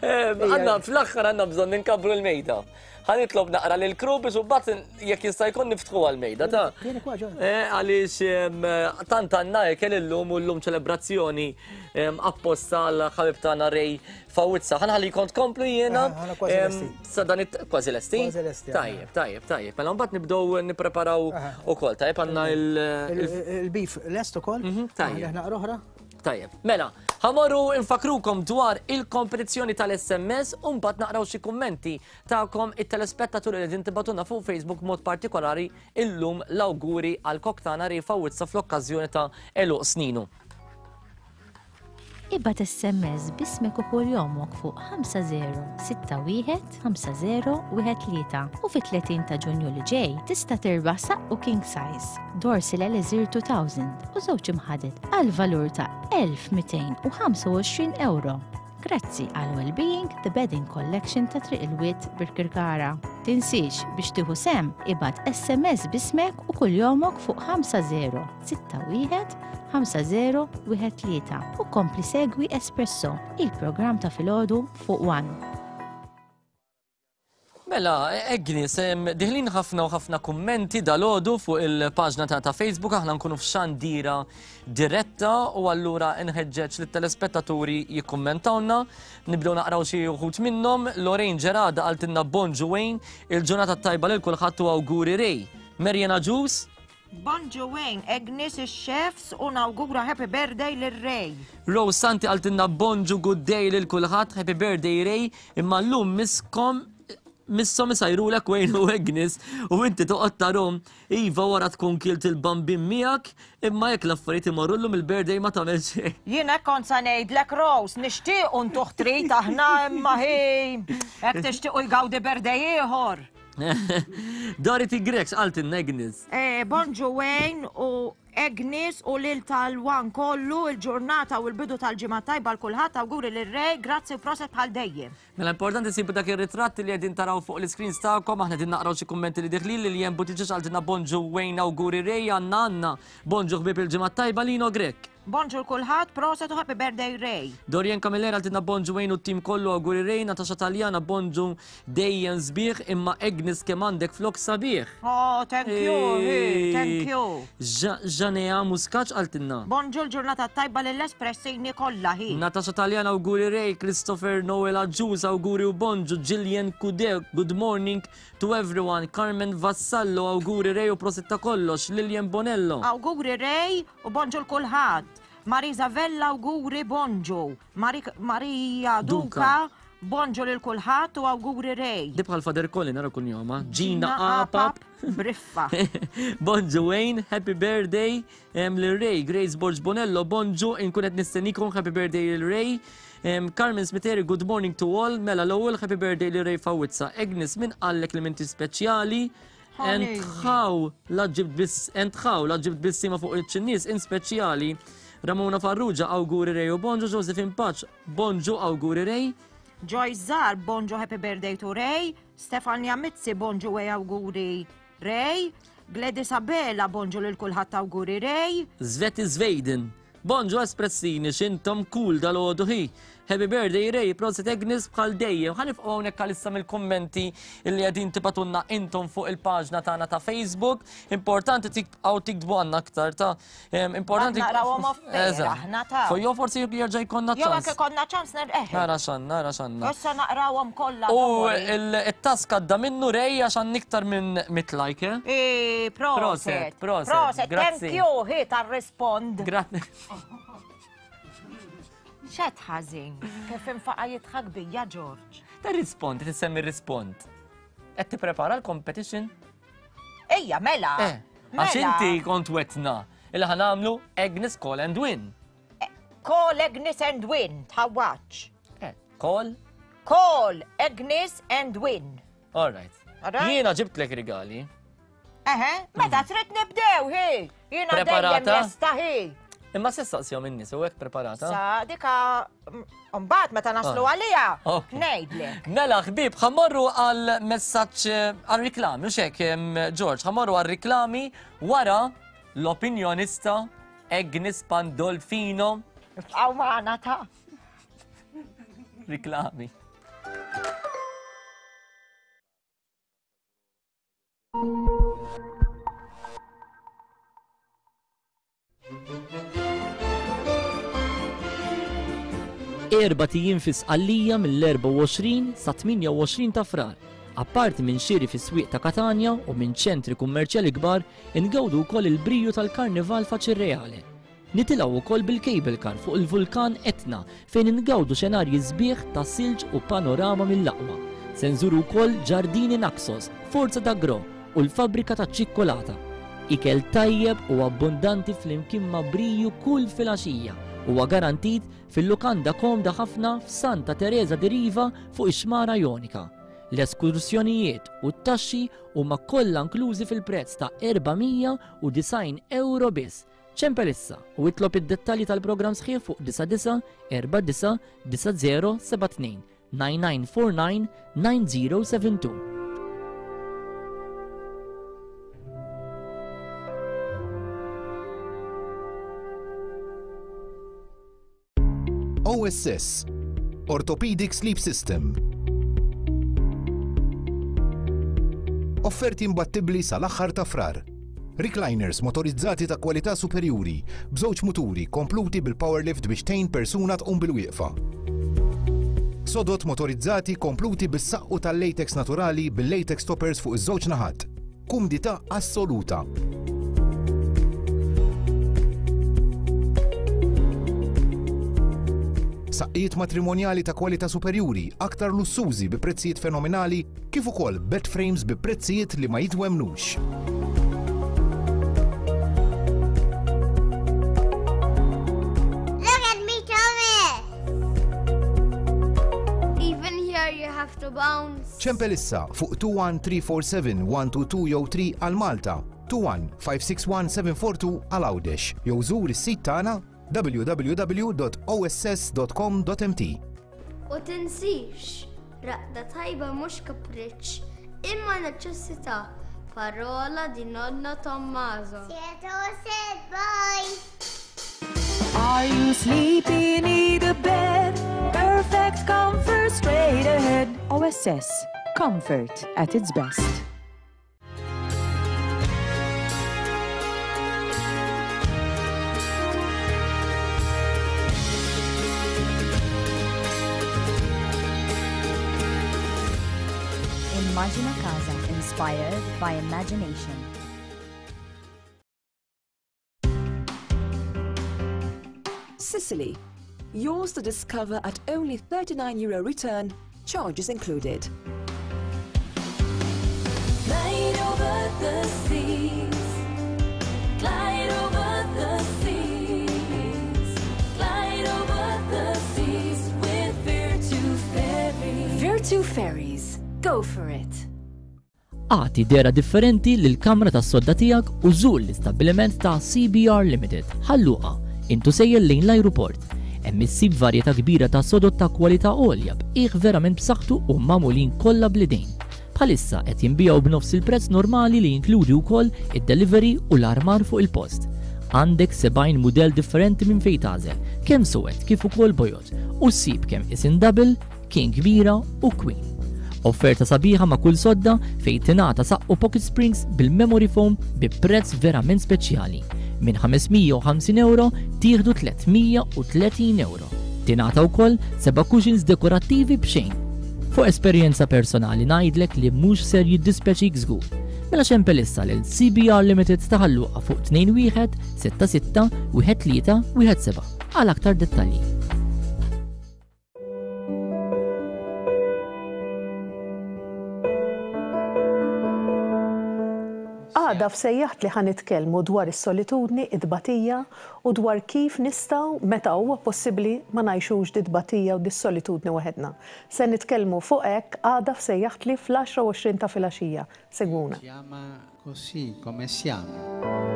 Għandna fl-aħħar għandna bżonn inkabbru l-mejda. Ħa nitlob naqra lil crew biex imbagħad jekk jista' jkun niftħu għall-mejda ta' eh, għaliex tant għandna ikel illum u llum ċelebrazzjoni apposta għal ħabib tagħna Ray Fawizza. Ħa nħallikom tkomplu jiena. Sa dan kważi lesti? Tajjeb, tajjeb, tajjeb. Mela mbagħad nibdew nippreparaw ukoll. Tajjeb għandna il- Il-beef lest ukoll. Mhm, tajjeb. Naqra oħra. Tajjeb. Mela, ħa mmorru nfakkrukom dwar il-kompetizzjoni tal-SMS u mbagħad naqraw xi kummenti tagħkom it-telespettaturi li qegħdin tibagħtulna fuq Facebook mod partikolari illum l-awguri għal kok tagħna Ray Fawizza fl-okkażjoni ta' għeluq sninu. Ibgħat SMS b'ismek u kuljomok fuq 5061 5013 u fit-30 ta' Ġunju li ġej tista' tirbaħ saqqu king size, Dorsil Elixir 2000 u żewġ imħaded għal valur ta' 1225 ewro. Grazzi għal Wellbeing The Bedding Collection ta' Triq il-Wied Birkirkara. Tinsiex biex tieħu sehem ibgħat SMS b'ismek u kuljomok fuq 5061 5013 u kompli segwi Espresso, il-programm ta' filgħodu fuq One. Mela, Agnes, diħlin ħafna u ħafna kummenti dal-ħodu fuq il-paġna ta' ta' Facebook, aħna nkunu f'xandira diretta u allura nħeġġeġ lit telespettaturi jikkummentawna. Nibdew naqraw xi wħud minnhom. Lorraine Ġerada qaltilna bonġu Wayne, il-ġurnata tajba lil kulħadd u awguri Ray. Marian Agius. Bonġu Wayne, Agnes ix-chefs u nawgura happy birthday lil Ray. Rose Santi qaltilna bonġu good day lil kulħadd, happy birthday Ray, imma llum misskom misshom isajrulek Wayne u Agnes u inti toqgħod tarhom. Iva wara tkun kilt il-bambin miegħek, imma jekk l-affarijiet imorru llum il-birthday ma tagħmel xejn. Jien hekk kont sa ngħidlek Rose, nixtiequ ntuh trid aħna imma hi hekk tixtiequ jgawdi birthday ieħor. Dorothy Grech x'qaltilna Agnes? Eh, bonġu Wayne u Agnes u lil tal-wan kollu il-ġurnata u l-bidu tal-ġimgħa tajba l kulħadd awguri lil Ray, grazzi u proset bħal dejjem. Mela importanti sibu dak ir-ritratt li qegħdin taraw fuq l-iscreens tagħkom, aħna qegħdin naqraw xi kummenti li diħlin li jem Buttigieg qaltilna bonġu Wayne awguri Ray għandna għandna. Bonġu ħbieb il-ġimgħa tajba Lino Grech. Bonġu l-kulħadd, proset u happy birthday Ray. Dorian Camilleri għaltilna bonġu Wayne u t-tim kollu awguri Ray, Natasha Taljana bonġu dejjem sbieħ imma Agnes kemm għandek flok sabiħ. Oh, thank you, hi, thank you. Janea Muscat għaltilna. Bonġu l-ġurnata tajba lill-espressini kollha hi. Natasha Taljana awguri Ray, Christopher Noel Agius awguri u bonġu, Gillian Kude, good morning to everyone, Carmen Vassallo awguri Ray u prosit ta' kollox, Lilian Bonello. Awguri Ray U bonġu l-kulħadd. Marisa Vella awguri bonġu. Marija Duka bonġu lil kulħadd u awguri Ray. Di bħal Father Colin nara kuljoma. Gina Apap. Briffa. Bonġu Wayne, happy birthday lil Ray. Grace Borg Bonello, bonġu, inkun qed nistennikom happy birthday lil Ray. Carmen Smiteri, good morning to all. Mela l-ewwel happy birthday lil Ray Fawizza. Agnes, min qallek li minti speċjali? Entħaw la ġibt biss entħaw la ġibt bissima fuq iċ-ċinnies in speċjali. Ramona Farrugia awguri Rej u bonġu Josephine Paċ bonġu awguri Rej. Joyce Zar bonġu happy birthday to Ray. Stefania Mizzi bonġu e awguri Ray. Gladys Abela bonġu lil kulħadd awguri Ray. Zveti Zvejden Bonġu Espressini, x'intom cool dalgħodu hi. Happy birthday Ray, prosit Agnes bħal dejjem. Ħa nifqgħu hawnhekk għalissa mill-kummenti li qegħdin tibatunna intom fuq il-paġna tagħna ta' Facebook. Importanti tibqgħu tiktbu għandna aktar ta' importanti. Narawhom off aħna ta' Fuq jew forsi jerġa' jkollna ċans. Jew anke konna ċans nerqeħ. Nara xan, nara xanna. Issa naqrawhom kollha. U it-task għadda minnu Ray għax għandna iktar minn mit like. Eh? Proset, proset. Proset, thank you, hi tar-rispond. Grazzi. Xed ħażin, kif infaqa jidħak bija George. Ta' rispond, tissemmi rispond. Qed tipprepara l-competition? Ejja, mela. Eh, għax mela. inti kont wetna il ħa nagħmlu Agnes Call and Win. Eh, call Agnes and Win, tħawwaċ. Eh, call? Call Agnes and Win. All right. Jiena ġibtlek rigali. Eħe, meta trid nibdew, hi. Jiena dejjem lesta hi. Imma se staqsihom in-nies u hekk preparata. Sa dika mbagħad meta naslu ah. għaliha ngħidlek. Mela ħbieb ħammorru għal messaġġ eh, għal riklami u xek George, ħammorru għal riklami wara l-opinjonista Agnes Pandolfino. Ibqgħu magħna ta' Riklami. Erbat ijiem fi Sqallija mill-24 sa 28 ta' Frar. Apparti minn xiri fis-swieq ta' Katanja u minn ċentri kummerċjali kbar, ingawdu wkoll il-briju tal-Karnival Faċirreale. Nitilgħu wkoll bil-cable car fuq il-vulkan Etna fejn ingawdu xenarji sbieħ ta' silġ u panorama mill-aqwa. Se nżuru wkoll Ġardini Naxos, Forza d'Agrò u l-fabbrika taċ-ċikkulata. Ikel tajjeb u abbundanti flimkien ma' briju kull filgħaxija huwa garantit fil-lukanda komda ħafna f'Santa Teresa di Riva fuq ix-Xmara Jonika. L-eskursjonijiet u t-taxxi huma kollha inklużi fil-prezz ta' 490 ewro biss. Ċempel issa u itlob id-dettalji tal-programm sħiħ fuq 99 49 9072 9949 9072. OSS, Orthopedic Sleep System. Offerti imbattibbli sal-aħħar ta' Frar. Recliners motorizzati ta' kwalità superjuri, b'żewġ muturi kompluti bil-power lift biex tgħin persuna tqum bil-wieqfa. Sodod motorizzati kompluti bis-saqqu tal-latex naturali bil-latex toppers fuq iż-żewġ naħat. Kumdità assoluta. Saqqijiet matrimonjali ta' kwalità superjuri, aktar lussużi bi prezzijiet fenomenali, kif ukoll bed frames bi prezzijiet li ma jitwemmnux. Look at me coming! Even here you have to bounce. Ċempel issa fuq 21347 122 jew 3 għal Malta, 21 561 742 għal Għawdex jew żur is-sit tagħna www.oss.com.mt. U tinsix, raqda tajba mhux kapriċċ, imma neċessità. Parola di nonno Tommaso. said bye. Are you sleepy? Need a bed? Perfect comfort straight ahead. OSS. Comfort at its best. Immagina Casa, inspired by imagination. Sicily. Yours to discover at only 39 euro return, charges included. Glide over the seas. Glide over the seas. Glide over the seas with Virtu Ferries. Virtu Ferries. Go for it. Agħti dehra differenti lill-kamra tas-sodda tiegħek u żur l-istabbiliment ta' CBR Limited, Ħal Luqa, int u sejjer lejn l-ajruport. Hemm issib varjetà kbira ta' sodod ta' kwalità għolja b'qiegħ verament b'saħħtu u magħmulin kollha bl-idejn. Bħalissa qed jinbiegħu b'nofs il-prezz normali li jinkludi wkoll id-delivery u l-armar fuq il-post. Għandek 70 mudell differenti minn fejn tagħżel, kemm suwed kif ukoll bojod, u ssib kemm isin double, King kbira u Queen. Offerta sabiħa ma' kull sodda fejn tingħata saqqu pocket springs bil-memory foam bi prezz verament speċjali. Minn 550 euro tieħdu 330 euro. Tingħata wkoll seba' cushions dekorattivi b'xejn. Fuq esperjenza personali ngħidlek li mhux ser jiddispjaċik żgur. Mela ċempel issa lil CBR Limited ta' Ħal Luqa fuq 21 66 13 17 għal aktar dettalji. Għada f'Sejjaħtli ħa nitkellmu dwar is-solitudni, it-tbatija u dwar kif nistgħu, meta huwa possibbli, ma ngħixux dit-tbatija u dis-solitudni waħedna. Se nitkellmu fuq hekk għada f'Sejjaħtli fl-għaxra u 20 ta' filgħaxija. Segwuna. Ci ama così come siamo.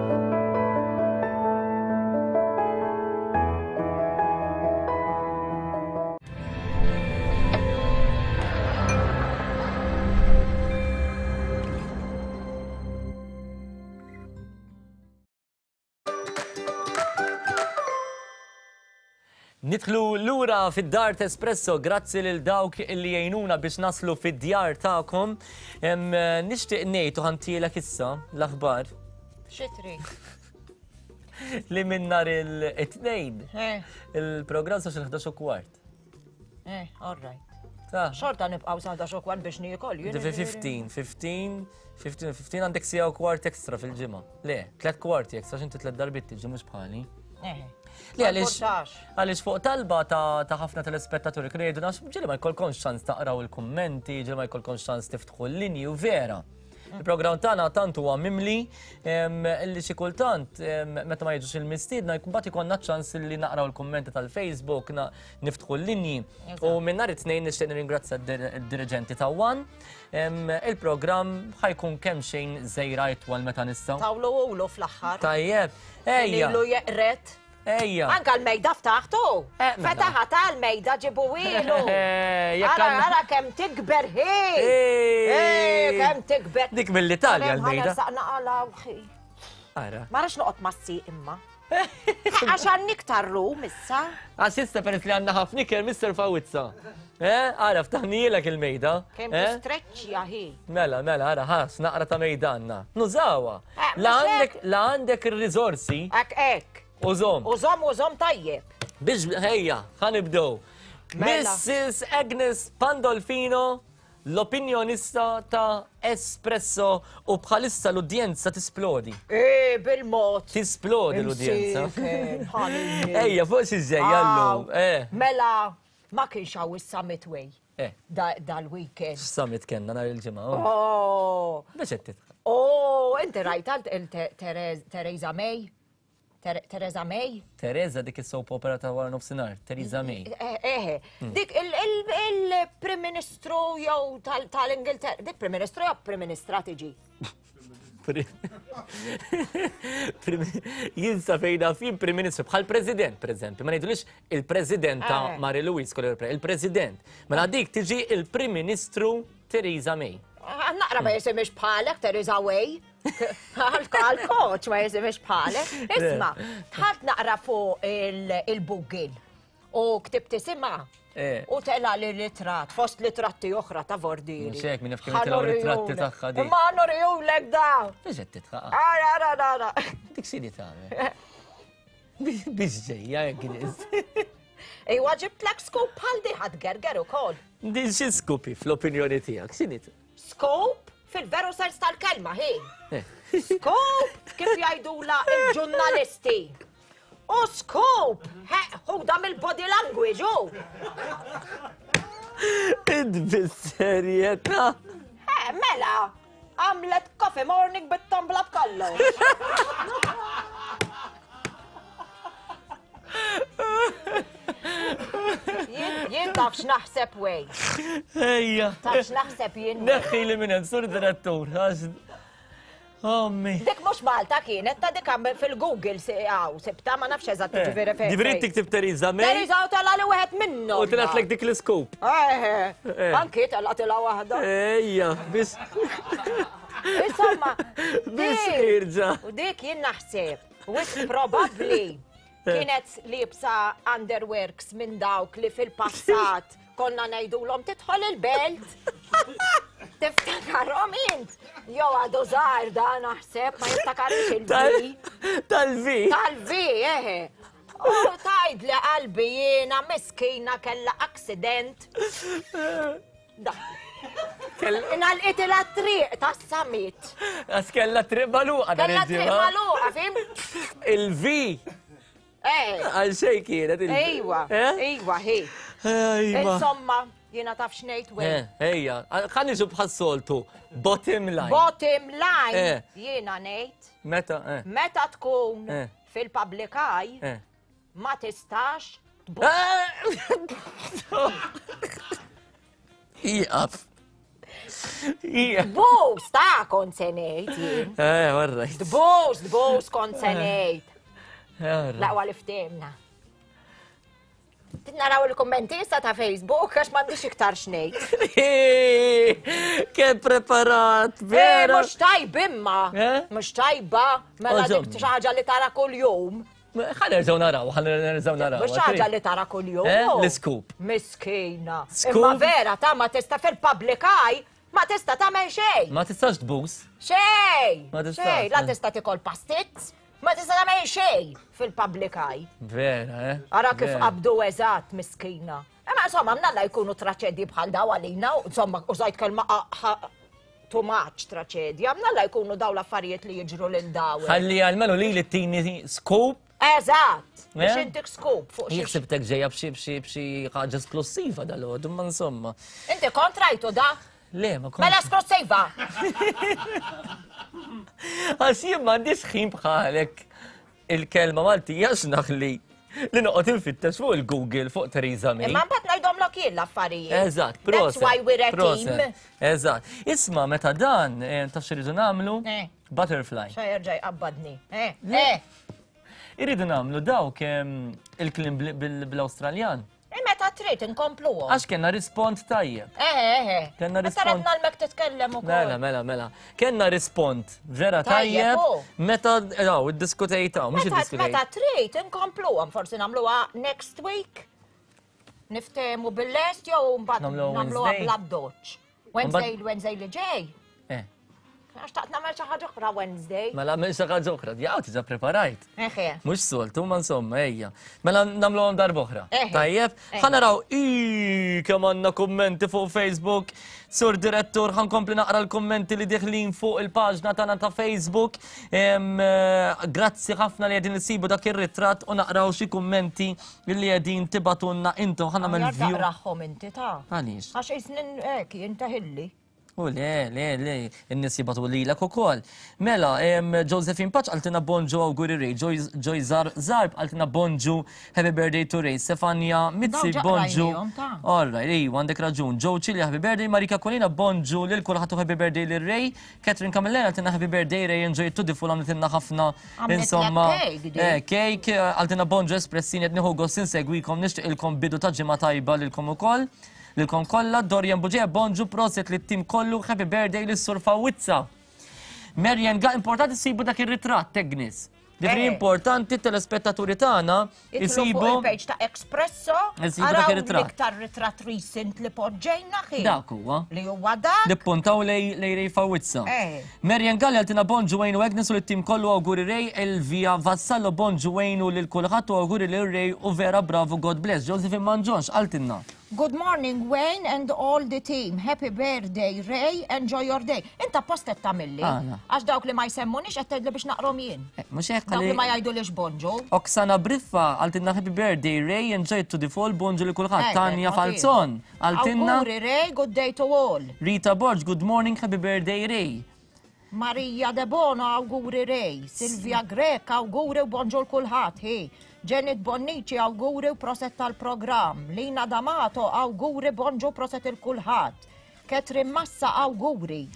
Nidħlu lura fid-dar t'Espresso, grazzi lil dawk li jgħinuna biex naslu fid-djar tagħkom. Nixtieq ngħid u ħantielek issa l-aħbar. Xi trid? Li minn nhar il-tnejn eh. il-programm sa xi 11 u kwart. Eh, all right. Xorta nibqgħu sa 11 u kwart biex niekol. 15, 15, 15, 15 għandek sija u kwart ekstra fil-ġimgħa. Le, tlet kwarti ekstra x'inti tlet darbiet tiġi mhux bħali. Eh. Le għaliex għaliex fuq talba ta' ħafna telespettaturi kienu jgħidu nafx ġieli ma jkollkomx ċans taqraw il-kummenti, ġieli ma jkollkomx ċans tiftħu l-linji u vera. Il-programm tagħna tant huwa mimli li xi kultant meta ma jiġux il-mistiedna mbagħad ikollna ċans li naqraw il-kummenti tal-Facebook, niftħu l-linji. U minn nhar it-tnejn nixtieq nirringrazzja d-diriġenti ta' One Il-programm ħa jkun kemxejn żgħira itwal meta nistgħu. Tawlu ulu fl-aħħar. Tajjeb. Ejja. Ilu jeqret. Ejja. Anka l-mejda ftaħtu. Eh, mela. Fetaħa ta' l-mejda ġibu ilu. Eh, ara, ara kemm tikber hi. Eh, kemm tikber. Dik mill-Italja l-mejda. Saqna għala Ara. Ma rax noqgħod massi imma. Għax għandni iktar rum issa. Għax issa peress li għandna ħafna ikel Mr. Fawizza. Eh, ara, ftaħnilek il-mejda. Kemm eh? tistreċċja hi. Mela, mela, ara, ħas, naqra ta' mejda għandna. Nużawha. Eh, La għandek, la għandek ir-riżorsi. Ek, ek. Użom. Użom, użom tajjeb. Biex, ħejja, ħanibdew. Mela. Mrs. Agnes Pandolfino. l-opinjonista ta' Espresso u bħalissa l-udjenza tisplodi. Eh, bil-mod. Tisplodi l-udjenza. Imsieken, ħalini. Ejja, fuq xi ġejja llum. Aw, Eh. Mela, ma kienx hawn is-summit way. Eh. Dal-weekend. Summit kellna nhar il-ġimgħa. oh. Oh. Biex qed tidħak. Oh, inti rajt għal Theresa May? Theresa May? Teresa dik is-soap opera ta' wara nofsinhar, Theresa May. Eh, eh, dik il-Prim Ministru jew tal-Ingilterra, dik Prim Ministru jew Prim Ministra tiġi? Jien sa fejna fin Prim Ministru bħal President, per eżempju, ma ngħidulix il-Presidenta Eh. Mary Louise Collier, il-President. Mela dik tiġi il-Prim Ministru Theresa May. Ah, Naqra ma jisimix bħalek, Theresa Way. Għal-koċ ma jisimix bħalek. Isma, tħalt naqra fuq il-Google u ktibt isimha Eh. u tela li ritrat, fost litratti oħra ta' Vordiri. Mhux hekk, min jaf kemm jitilgħu ritratti tagħha di. Ma nurijulek da. Biex qed titħaq. Ara, ara, ara. Dik x'inhi tagħmel? Biex ġejja hekk nies. Iwa ġibtlek scoop bħal di ħadd gerger ukoll. Din xi skupi fl-opinjoni tiegħek, x'inhi? Scoop fil-veru sens tal-kelma, hi. Eh. Scoop kif jgħidula il-ġurnalisti. U scoop, ħuda mill-body language, u. Id bis-serjetà. Eh, mela, għamlet coffee morning bit-tombla b'kollox. Jien taf x'naħseb wej. Ejja. Taf x'naħseb jien. Neħħi li minn hemm sur direttur. għax- Ommi. Dik mhux Malta kienet ta' dik għam fil-Google għaw sibta ma nafx eżatt ġifieri fejn. Eh, Ġifieri tiktib Theresa May Teresa u tela li wieħed minnhom. u tilgħatlek dik l-iskop. Eh, Eh. anki tela tela waħda. Ejja, biex Insomma, biex dik- irġa. U dik jien naħseb, wisq probabbli kienet liebsa underworks minn dawk li fil-passat konna ngħidulhom tidħol il-belt. Tiftakarhom int. Jew għadu żgħar da naħseb ma jiftakarx il-V. Tal-V. Tal-V, eħe. U tajd li qalbi jiena miskina kella accident. Da. Inalqit il triq tas-summit. Għax kella triq maluqa dan Kella triq il-ġimgħa. magħluqa, fim? Il-V Eh. għal xejn kienet il-V. Ejwa, Eh? ejwa, hi. Ejwa. Insomma, jiena taf x'ngħid wej. Eh, Ejja, ħa niġu bħas-soltu. Bottom line. Bottom line, Eh. jiena ngħid, Meta, eh. meta tkun Eh. fil-public eye, Eh. ma tistax Iqaf. Iqaf. Tbus, ta' kont se ngħid jien. Eh, all right. Tbus, tbus kont se Eh. ngħid. All right. Laqwa li ftehimna. Naraw il-kommenti issa ta' Facebook għax m'għandix iktar x'ngħid. Kemm preparat, Eh, vera. mhux tajb imma. Eh? Mhux tajba, mela dik Oġomni. xi ħaġa li tara kuljum. Ħa nerġgħu naraw, ħa nerġgħu naraw. Mhux ħaġa li tara kuljum. Eh, l-scoop. Miskina. Scoop? Imma vera ta' ma tista' fil-public eye ma tista' tagħmel xejn. Ma tistax tbus. Xejn. Ma tistax, Xejn, la eh. tista' tikol pastizz, ma tista' tagħmel xejn fil-public eye. Vera, eh? Ara kif Vera. qabdu eżatt miskina. Imma insomma, mnalla jkunu traċedji bħal daw għalina, u insomma, użajt kelma too much traċedja, mnalla jkunu daw l-affarijiet li jiġru lil daw. Ħalli għalmenu li li tini scoop. Eżatt, biex Eh? intik scoop fuq xi. Jek ġejja b'xi b'xi b'xi ħaġa esplossiva dal-għodu, ma insomma. Inti kontrajtu da? Le, ma kont. Mela esplosiva. Għax jien m'għandix ħin bħalek il-kelma Maltija x'naħli li noqgħod infittex fuq il-Google fuq Theresa May. Imma mbagħad ngħidhomlok jien l-affarijiet. Eżatt, That's proset. why we're a team. proset. Eżatt. Isma' meta dan, eh, taf x'iridu nagħmlu? Eh. Butterfly. Xa jerġa' jqabbadni. Eh, eh. Irridu nagħmlu dawk em, il-klim bl-Awstraljan. Eh, Meta trid inkompluhom. Għax kellna rispont tajjeb. Eh, eh, eh. Kellna Meta rispont. redna l-mek titkellem ukoll. Mela, mela, mela. Kenna rispont vera Tajjeb, tajjeb u. meta daw iddiskutejta, mhux Meta iddiskutejt. meta trid inkompluhom, forsi nagħmluha next week. Niftehmu bil-lest jew mbagħad Nagħmluha nagħmluha Wednesday. bla doċ. Wednesday, Wednesday li ġej. Eh. Għax taqt nagħmel xi ħaġa oħra Wednesday. Mela għamil xi ħaġa oħra, jaw tiġa preparajt. Eħe. Mhux soltu, ma insomma, ejja. Mela nagħmluhom darb'oħra. Tajjeb, ħa naraw i kemm għandna kummenti fuq Facebook. Sur direttur, ħa nkompli naqra l-kummenti li diħlin fuq il-paġna tagħna ta' Facebook. Eh, grazzi ħafna li qegħdin isibu dak ir-ritratt u naqraw xi kummenti li qegħdin tibatunna intom ħa nagħmel view. Taqrahom inti ta'. Għaliex? Għax isnin hekk jintaħilli. U le, le, le, in-nies jibgħatu lilek ukoll. Mela, Josephine Paċ qaltilna bonġu awguri Ray, Joy Zarb qaltilna bonġu happy birthday to Ray, Stefania Mizzi bonġu. All right, iva, għandek raġun. Joe Chili happy birthday, Marika Kolina bonġu lil kulħadd u happy birthday lil Ray, Catherine Camillera qaltilna happy birthday Ray, enjoy it to the full għamlitilna ħafna insomma. Cake, qaltilna bonġu espressini qed nieħu gost insegwikom nixtieqilkom bidu ta' ġimgħa tajba lilkom ukoll. Lilkom kollha, Dorian Bugeja, bonġu, proset lit-tim kollu, happy birthday lis-Sur Fawizza. Marian Ga, importanti ssibu dak ir-ritratt, Agnes. Ġifieri eh. importanti telespettaturi tagħna isibu il-page ta' Expresso. Isibu dak ir-ritratt. L-iktar ritratt recent li poġġejna ħin. Dak huwa. Li huwa dak. Li puntaw lej lej Ray Fawizza. Eh. Marian Galli għaltina bonġu Wayne u Agnes u lit-tim kollu awguri Ray Elvia Vassallo bonġu Wayne u lil kulħadd u awguri lil Ray u vera bravo God bless. Josephine Manġonx għaltinna. Good morning Wayne and all the team. Happy birthday Ray, enjoy your day. Inta apposta qed tagħmilli. Għala? Għax dawk li ma jsemmunix qed tgħidli biex naqrom jien. Eh, mhux hekk Dawk li ma jgħidulix bonġu. Oksana Briffa għaltinna happy birthday Ray, enjoy to the full, bonġu li kulħadd. Eh, Tanja eh, Falzon għaltinna. Awguri Ray, good day to all. Rita Borg, good morning, happy birthday Ray. Maria Debono awguri Ray, Silvia Grech awguri u bonġu 'l kulħadd hi, Janet Bonnici awguri u proset tal-programm, Lina D'Amato awguri bonġu proset 'il kulħadd, Catherine Massa awguri.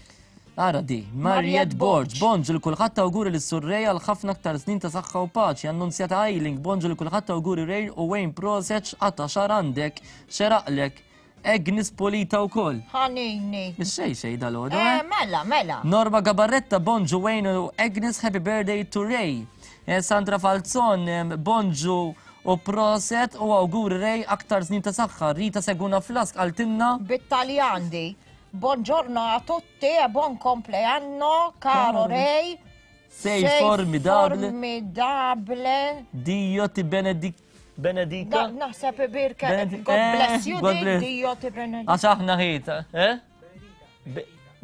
Ara di, Mariette Borg, bonġu 'l kulħadd awguri lis Sur Ray għal ħafna aktar snin ta' saħħa u paċi, Annunzjata Eiling, bonġu 'l kulħadd awguri Ray u Wayne proset x'qata' xagħar għandek, xeraqlek. Agnes Polita wkoll. Ħanini. Xej xej dal-għodu. Eh, mela, mela. Norma Gabarretta, bonġu Wayne u Agnes, happy birthday to Ray. Eh, Sandra Falzon, bonġu u proset u awguri Ray aktar snin ta' saħħa. Rita Seguna Flask għaltinna. Bit-Taljan di. Buongiorno a tutti e buon compleanno, caro Ray. Sei formidable. Formidable. Dio ti benedic benedica. Naħseb birka. God eh, bless you, Dio ti benedica. Għax aħna ħita, eh?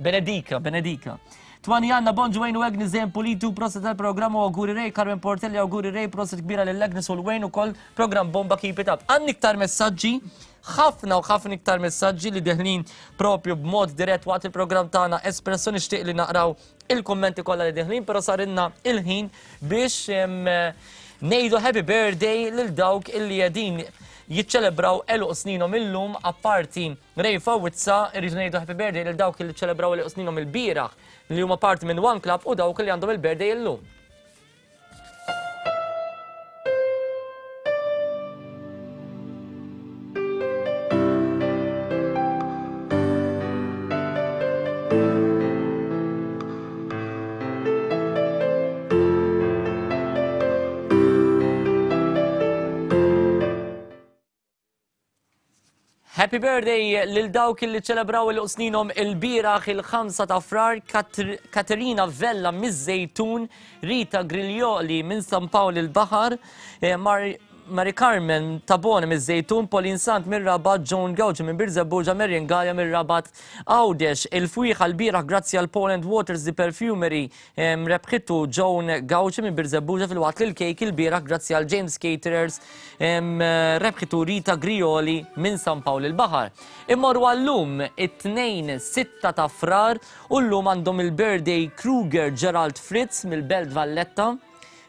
Benedika, benedika. Twani għanna bonġu Wayne u Agnes dejjem pulitu proset tal-programm u awguri Ray, Carmen Portelli awguri Ray, proset kbira lil Agnes u l-Wayne u koll program bomba keep it up. Għandni iktar messaġġi, ħafna u ħafna iktar messaġġi li deħlin propju b'mod dirett waqt il-programm tagħna Espresso nixtieq li naqraw il-kummenti kollha li deħlin, però sarinna il-ħin biex ngħidu happy birthday lil dawk illi qegħdin jiċċelebraw għeluq sninhom illum apparti Ray Fawizza irridu ngħidu happy birthday lil dawk illi ċelebraw għeluq sninhom il-bieraħ li huma parti minn One Club u dawk li għandhom il-birthday illum. Happy birthday lil dawk li ċelebraw il sninhom il-bieraħ il-5 ta' Frar Katerina Vella miż-Żejtun, Rita Griglioli minn San Pawl il-Baħar, eh, Mari Carmen Tabone miż-Żejtun, Pauline Sant mir-Rabat, Joan Gauci minn Birżebbuġa, Marion Galea mir-Rabat Għawdex. Il-fwieħa l-bieraħ grazzi għal Poland Waters The Perfumery rebħitu Joan Gauci minn Birżebbuġa filwaqt li l-kejk il-bieraħ grazzi għal James Caterers rebħitu Rita Grioli minn San Pawl il-Baħar. Immorru għal-lum it-Tnejn 6 ta' Frar u llum għandhom il-birthday Kruger Gerald Fritz mill-Belt Valletta,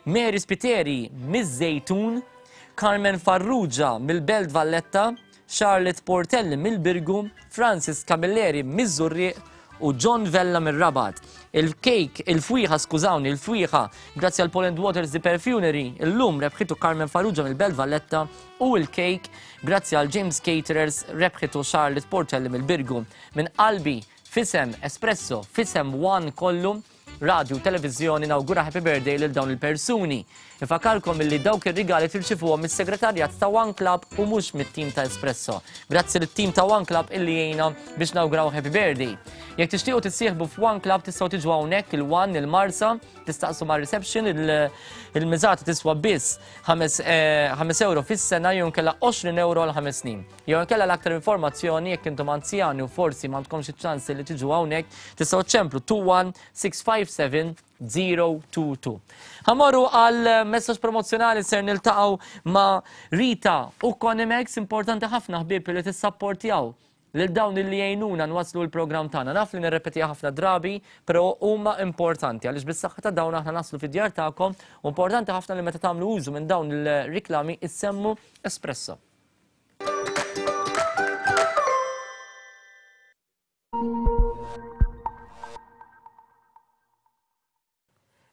Mary Spiteri miż-Żejtun, Carmen Farrugia mill-Belt Valletta, Charlotte Portelli mill-Birgu, Francis Camilleri miż-Żurrieq u John Vella mir-Rabat. Il-kejk, il-fwieħa, skużawni, il-fwieħa, grazzi għal Poland Waters The Perfumery, illum rebħitu Carmen Farrugia mill-Belt Valletta u l-kejk, grazzi għal James Caterers, rebħitu Charlotte Portelli mill-Birgu. Minn qalbi, f'isem Espresso, f'isem One kollu, Radju u Televiżjoni nawgura Happy Birthday lil dawn il-persuni. Infakarkom illi dawk ir-rigali tirċivuhom mis-segretarjat ta' One Club u mhux mit-tim ta' Espresso. Grazzi lit-tim ta' One Club illi jgħinna biex nawguraw Happy Birthday. Jekk tixtiequ tissieħbu f'One Club tistgħu tiġu hawnhekk il-One il-Marsa, tistaqsu mar-reception il-miżata tiswa biss 5 eh, euro fis-sena jew inkella 20 euro għal ħames snin. Jew inkella l-aktar informazzjoni jekk intom anzjani u forsi m'għandkomx iċ-ċans li tiġu hawnhekk tistgħu ċemplu 21 657 022. Ħamorru għal messaġġ promozzjonali ser niltaqgħu ma' Rita u Conimex importanti ħafna ħbieb li tissapportjaw lil dawn li jgħinuna nwasslu l-programm tagħna. Naf li nirrepetiha ħafna drabi, però huma importanti għaliex bis-saħħa ta' dawn aħna naslu fid-djar tagħkom u importanti ħafna li meta tagħmlu użu minn dawn il-riklami issemmu Espresso.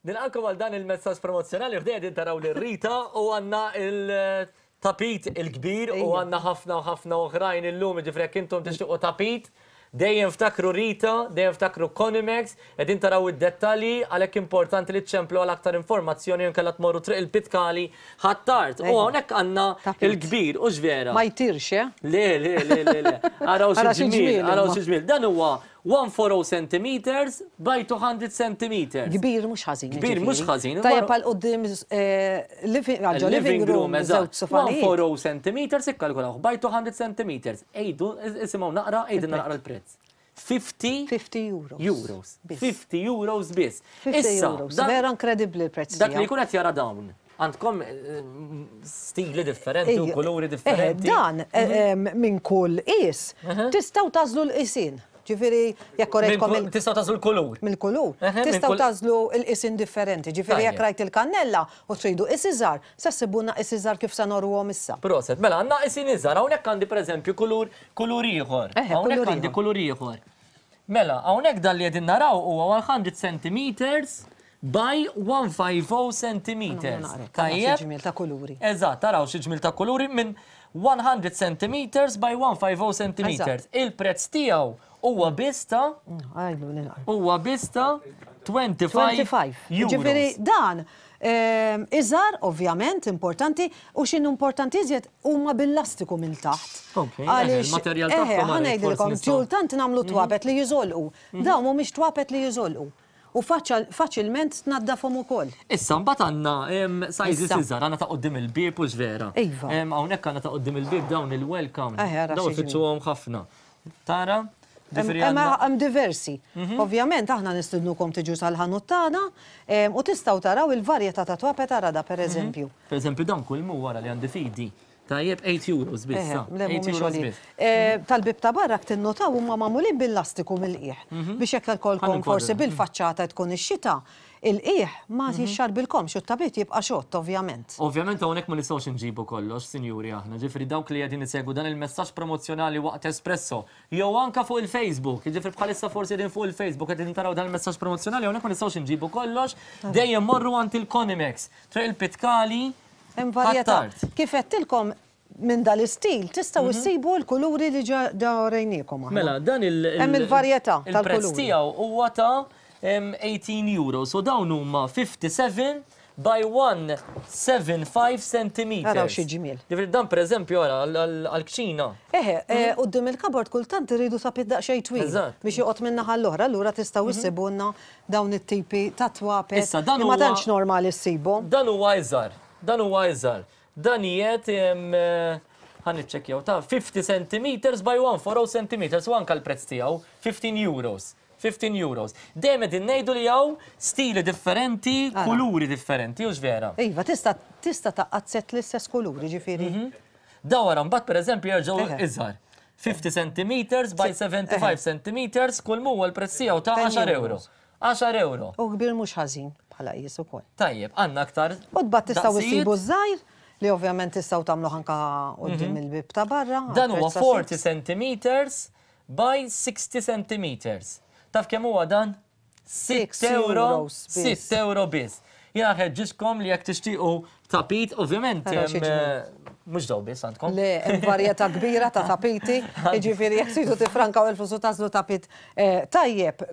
Nilqakom għal dan il-messaġġ promozzjonali f'dejja din taraw lil Rita u għandna il-tapit il-kbir u għandna ħafna u ħafna oħrajn illum, jiġifieri jekk intom tixtiequ tapit, dejjem ftakru Rita, dejjem ftakru Conimex, qegħdin taraw id-dettalji għalhekk importanti li ċċemplu għal aktar informazzjoni jew inkella tmorru Triq il-Pitkali Ħ'Attard. U hawnhekk għandna il-kbir, hux vera? Ma jtirx, eh? Le, le, le, le, le. Araw xi ġmiel, araw xi ġmiel. Dan huwa 140 centimeters by 200 centimeters. Kbir mhux ħażin. Kbir mhux ħażin. Tajjeb għal quddiem living room, eżatt. 140 centimeters ikkalkulaw by 200 centimeters. Ejdu, isimgħu naqra, ejdilna naqra l-prezz. 50 50 euros. Euros. 50 euros biss. 50 euros. Vera inkredibbli l-prezz. Dak li jkun qed jara dawn. Għandkom stili differenti u kuluri differenti. Dan minn kull qis tistgħu tagħżlu l-qisien. Ġifieri jekk orejtkom il- Tistgħu tagħżlu l-kulur. Mill-kulur. Tistgħu tagħżlu l-qisien differenti. Ġifieri jekk rajt il-kannella u tridu qis iżgħar, se ssibulna qis iżgħar kif se noruhom issa. Proset. Mela għandna qisien iżgħar. Hawnhekk għandi pereżempju kulur kulur ieħor. Hawnhekk għandi kulur ieħor. Mela, hawnhekk dan li qegħdin naraw huwa 100 centimeters by 150 centimeters. Tajjeb. Ġmiel ta' kuluri. Eżatt, taraw xi ġmiel ta' kuluri minn 100 centimeters by 150 centimeters. Il-prezz tiegħu huwa biss ta' huwa biss ta' 25 euros. Ġifieri dan iżgħar ovvjament importanti u x'inhu importanti iżjed huma bil-lastiku minn taħt. Għaliex il-materjal tagħhom ħa ngħidilkom kultant nagħmlu twapet li jiżolqu. Dawn mhumiex twapet li jiżolqu. U faċilment tnaddafhom ukoll. Issa mbagħad għandna sizes iżgħar, għandna ta' quddiem il-bieb hux vera? Iva. Hawnhekk għandna ta' quddiem il-bieb dawn il-welcome. Dawn ifittxuhom ħafna. Tara? Hemm diversi. Ovvjament aħna nistidnukom tiġu sal-ħanut tagħna u tistgħu taraw il-varjetà ta' twapet ara da pereżempju. Pereżempju dan kull mhu wara li għandi f'idi. Tajjeb, 8 euros biss. Le, mhumiex għoljin. Tal-bieb ta' barra tinnotaw huma magħmulin bil-lastiku mill-qiegħ. Biex jekk ikollkom forsi bil-faċċata tkun ix-xita, il-qiegħ ma jixxarbilkomx u t-tabit jibqa' xott ovvjament. Ovvjament hawnhekk ma nistgħux inġibu kollox, sinjuri aħna, ġifieri dawk li qegħdin isegwu dan il-messaġġ promozzjonali waqt Espresso jew anke fuq il-Facebook, jiġifieri bħalissa forsi qegħdin fuq il-Facebook qegħdin taraw dan il-messaġġ promozzjonali hawnhekk ma nistgħux inġibu kollox, dejjem morru għand il-Conimex, Triq il-Pitkali, Hemm varjetà. Kif għedtilkom minn dal-istil tistgħu issibu l-kuluri li ġa orejniekom aħna. Mela, dan il- Hemm il-varjetà tal-kuluri. Il-prezz tiegħu huwa ta' 18 euros u dawn huma 57 by 175 centimeters. Araw xi ġmiel. Ġifieri dan pereżempju ara għall-kċina. Eħe, quddiem il-cupboard kultant irridu tapit daqsxejn twil biex joqgħod min-naħa l-oħra, allura tistgħu issibulna dawn it-tipi ta' twapet Issa, dan li ma huwa- tantx normali ssibhom. Dan huwa iżgħar, dan huwa iżgħar. Dan qiegħed ħa niċċekkjaw ta' 50 centimeters by 140 centimeters u anke l-prezz tiegħu 15 euros. 15 euros. Dejjem qegħdin ngħidu li hawn stili differenti, Ara. kuluri differenti, hux vera? Iva, tista' tista' tgħaqqad sett l-istess kuluri, ġifieri. Dawn wara mbagħad pereżempju jerġgħu Eħe. iżgħar. 50 centimeters by 75 centimeters kull m'huwa l-prezz tiegħu ta' 10 10 euro. 10 euro. U kbir mhux ħażin bħala qies ukoll. Tajjeb, għandna aktar. U tbagħad tistgħu daqsijiet. issibu ż-żgħir li ovvjament tistgħu tagħmluh anke quddiem il-bieb ta' barra. Dan huwa għall-prezz ta' 40 centimeters by 60 centimeters. Taf kemm huwa dan? 6 euro, euros biss. 6 euro biss. Jiena nħeġġiġkom li jekk tixtiequ tapit, ovvjament, Ara xi ġmiel. mhux daw biss għandkom. Le, hemm varjetà kbira ta' tapiti, jiġifieri jekk tridu tiffrankaw il-flus u tagħżlu tapit tajjeb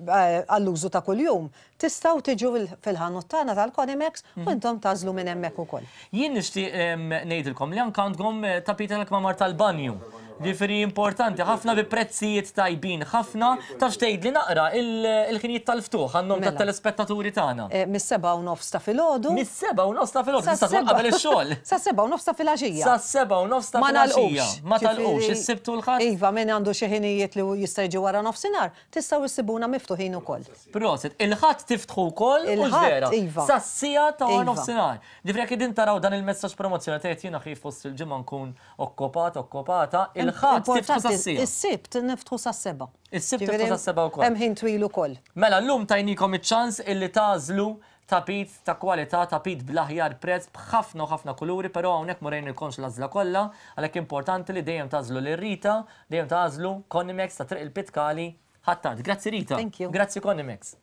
għall-użu ta' kuljum, tistgħu tiġu fil-ħanut tagħna tal-Conimex u intom tagħżlu minn hemmhekk ukoll. Jien nixtieq ngħidilkom li anke għandkom tapit tal-kmamar tal-banju. Ġifieri importanti ħafna bi prezzijiet tajbin ħafna. Taf x'tgħidli naqra il-ħinijiet tal-ftuħ għan-nom tat-telespettaturi tagħna. Mis-7:30 ta' filgħodu. Mis-7:30 ta' filgħodu, tista' tmur qabel ix-xogħol. Sas-7:30 ta' filgħaxija. Sas-7:30 ta' filgħaxija. Ma tagħlqux, is-Sibt u l-Ħadd? Iva, min għandu xi ħinijiet li jista' jiġi wara nofsinhar, Tistgħu issibuna miftuħin ukoll. Prosit. Il-Ħadd tiftħu wkoll, hux vera? Il-Ħadd, iva. Sas-siegħa ta' wara nofsinhar. Ġifieri jekk qegħdin taraw dan il-messaġġ promozzjonali tgħid jiena ħi fost il-ġimgħa nkun okkopat, okkopata, il-Ħadd tiftħu sas-siegħa. Is-Sibt niftħu sas-sebgħa. Is-Sibt tiftħu sas-sebgħa wkoll. Hemm ħin twil ukoll. Mela llum tajnikom iċ-ċans illi tagħżlu tapit ta' kwalità, tapit bl-aħjar prezz, b'ħafna u ħafna kuluri, però hawnhekk ma urejnilkomx l-għażla kollha, għalhekk importanti li dejjem tagħżlu lil Rita, dejjem tagħżlu Conimex ta' Triq il-Pitkali, Ħ'Attard. Grazzi Rita. Thank you. Grazzi Conimex.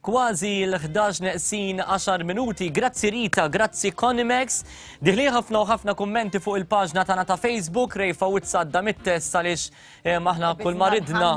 Kważi l-11 neqsin 10 minuti. Grazzi Rita, grazzi Conimex. Diħli ħafna u ħafna kummenti fuq il-paġna tagħna ta' Facebook, Ray Fawizza għadda mit-test għaliex eh, aħna kull ma ridna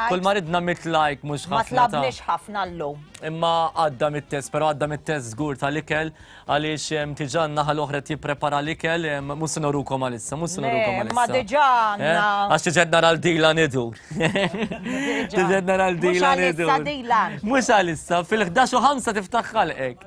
kull ma ridna mit like mhux Ma ħafna. ta' tlabniex ħafna llum. Imma għadda mit-test, però għadda mit-test żgur tal-ikel għaliex em, diġà n-naħa l-oħra qed jipprepara l-ikel, em, mhux se norukom għalissa, mhux se norukom Le, għalissa. ma diġà Eh, għandna. Għax diġà nara l-dila nidur. Diġà nara Mhux l-dila għalissa nidur. Dylan. Mhux għalissa, fil-11 u 5 tiftaħ ħalqek.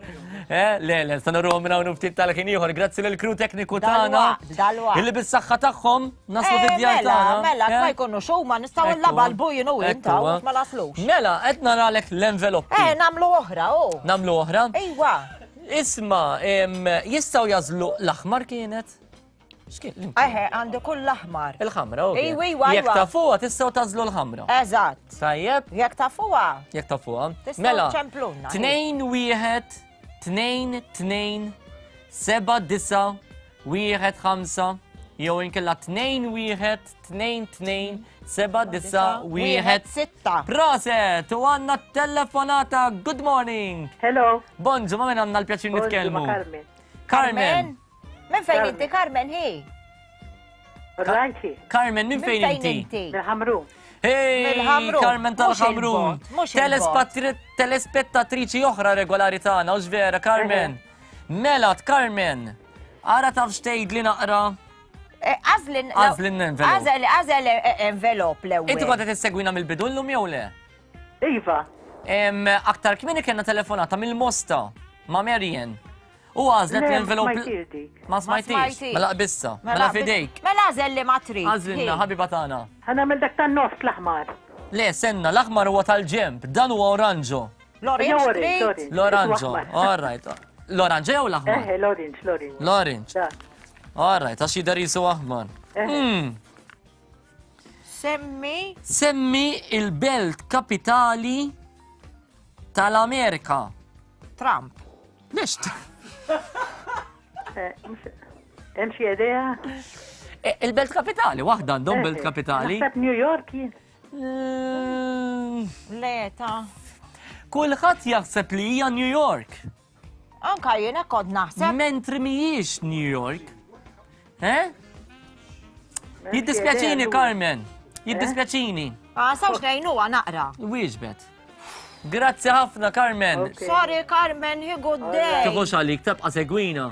Eh, le, le, se noruhom minn hawn ftit tal-ħin ieħor. Grazzi lill-crew tekniku tagħna. Dalwaqt, dalwaqt. Illi bis-saħħa tagħhom naslu Eh, fid-djar Mela, tagħna. mela, Eh? ma jkunux huma nistgħu Ekku. nlabalbu jien u inta Ekku, u ma naslux. Mela, qed naralek l-enveloppi. Eh, namlu oħra, oh. Namlu oħra? Ejwa. Isma, jistgħu jażlu l-aħmar kienet? X'kien? Eħe, għandi kull l-aħmar. Il-ħamra, ok. Ejwa, ejwa, Jekk ejwa. tafuha tistgħu tażlu l-ħamra. Eżatt. Tajjeb? Jekk tafuha. Jekk tafuha. Tistgħu Mela, ċemplunna, 2 1 2 2 7 9 1 5 jew inkella 2 1 2 2 7 9 1 6. Proset, u għandna telefonata. Good morning. Hello. Bonġu, ma minn għandna l-pjaċir Bonġu, nitkellmu. ma' Carmen. Carmen. Minn fejn inti, Carmen, hi? Rajti. Carmen, minn fejn inti? Mill-Ħamrun. Hey, Mill-Ħamrun. Carmen Mhux tal-Ħamrun. il-bot, mhux il-bot. Telespettatriċi oħra regolari tagħna, hux vera, Carmen? Mela, Carmen, ara taf x'tgħidli naqra. Għażlin. Għażlin envelop. Għażel, għażel envelop l-ewwel. Inti kont qed issegwina mill-bidu llum jew le? Iva. Aktar kmieni kellna telefonata mill-Mosta ma' Marian. U għażlet Le, l-envelop. ma smajtix dik. Ma smajtix. Mela qbissa. Mela fidejk. Mela għażel li ma trid. Għażlilna ħabiba tagħna. Ħa nagħmel dak tan-nofs l-aħmar. Le, senna, l-aħmar huwa tal-ġemp, dan huwa oranġo. L-orange trid? L-oranġo, all right. L-oranġo jew l-aħmar? Eħe, l-orange, l-orange. L-orange. All right, għax jidher jisu aħmar. Eħe. Semmi. Semmi il-belt kapitali tal-Amerika. Trump. Lex? Eh, Hemm xi idea? Eh, Il-belt kapitali, waħda għandhom belt Eħe. kapitali. Naħseb New York jien. Le, ta' Kulħadd jaħseb li hija New York. Anka jiena kont naħseb. Mentri mhijiex New York. Eh? Jiddispjaċini, Carmen. Jiddispjaċini. Ah, sawx ngħinuha naqra. Wieġbet. Grazzi ħafna, Carmen. Sorry, Carmen, hi good day. Tiħux għalik, tibqa segwina.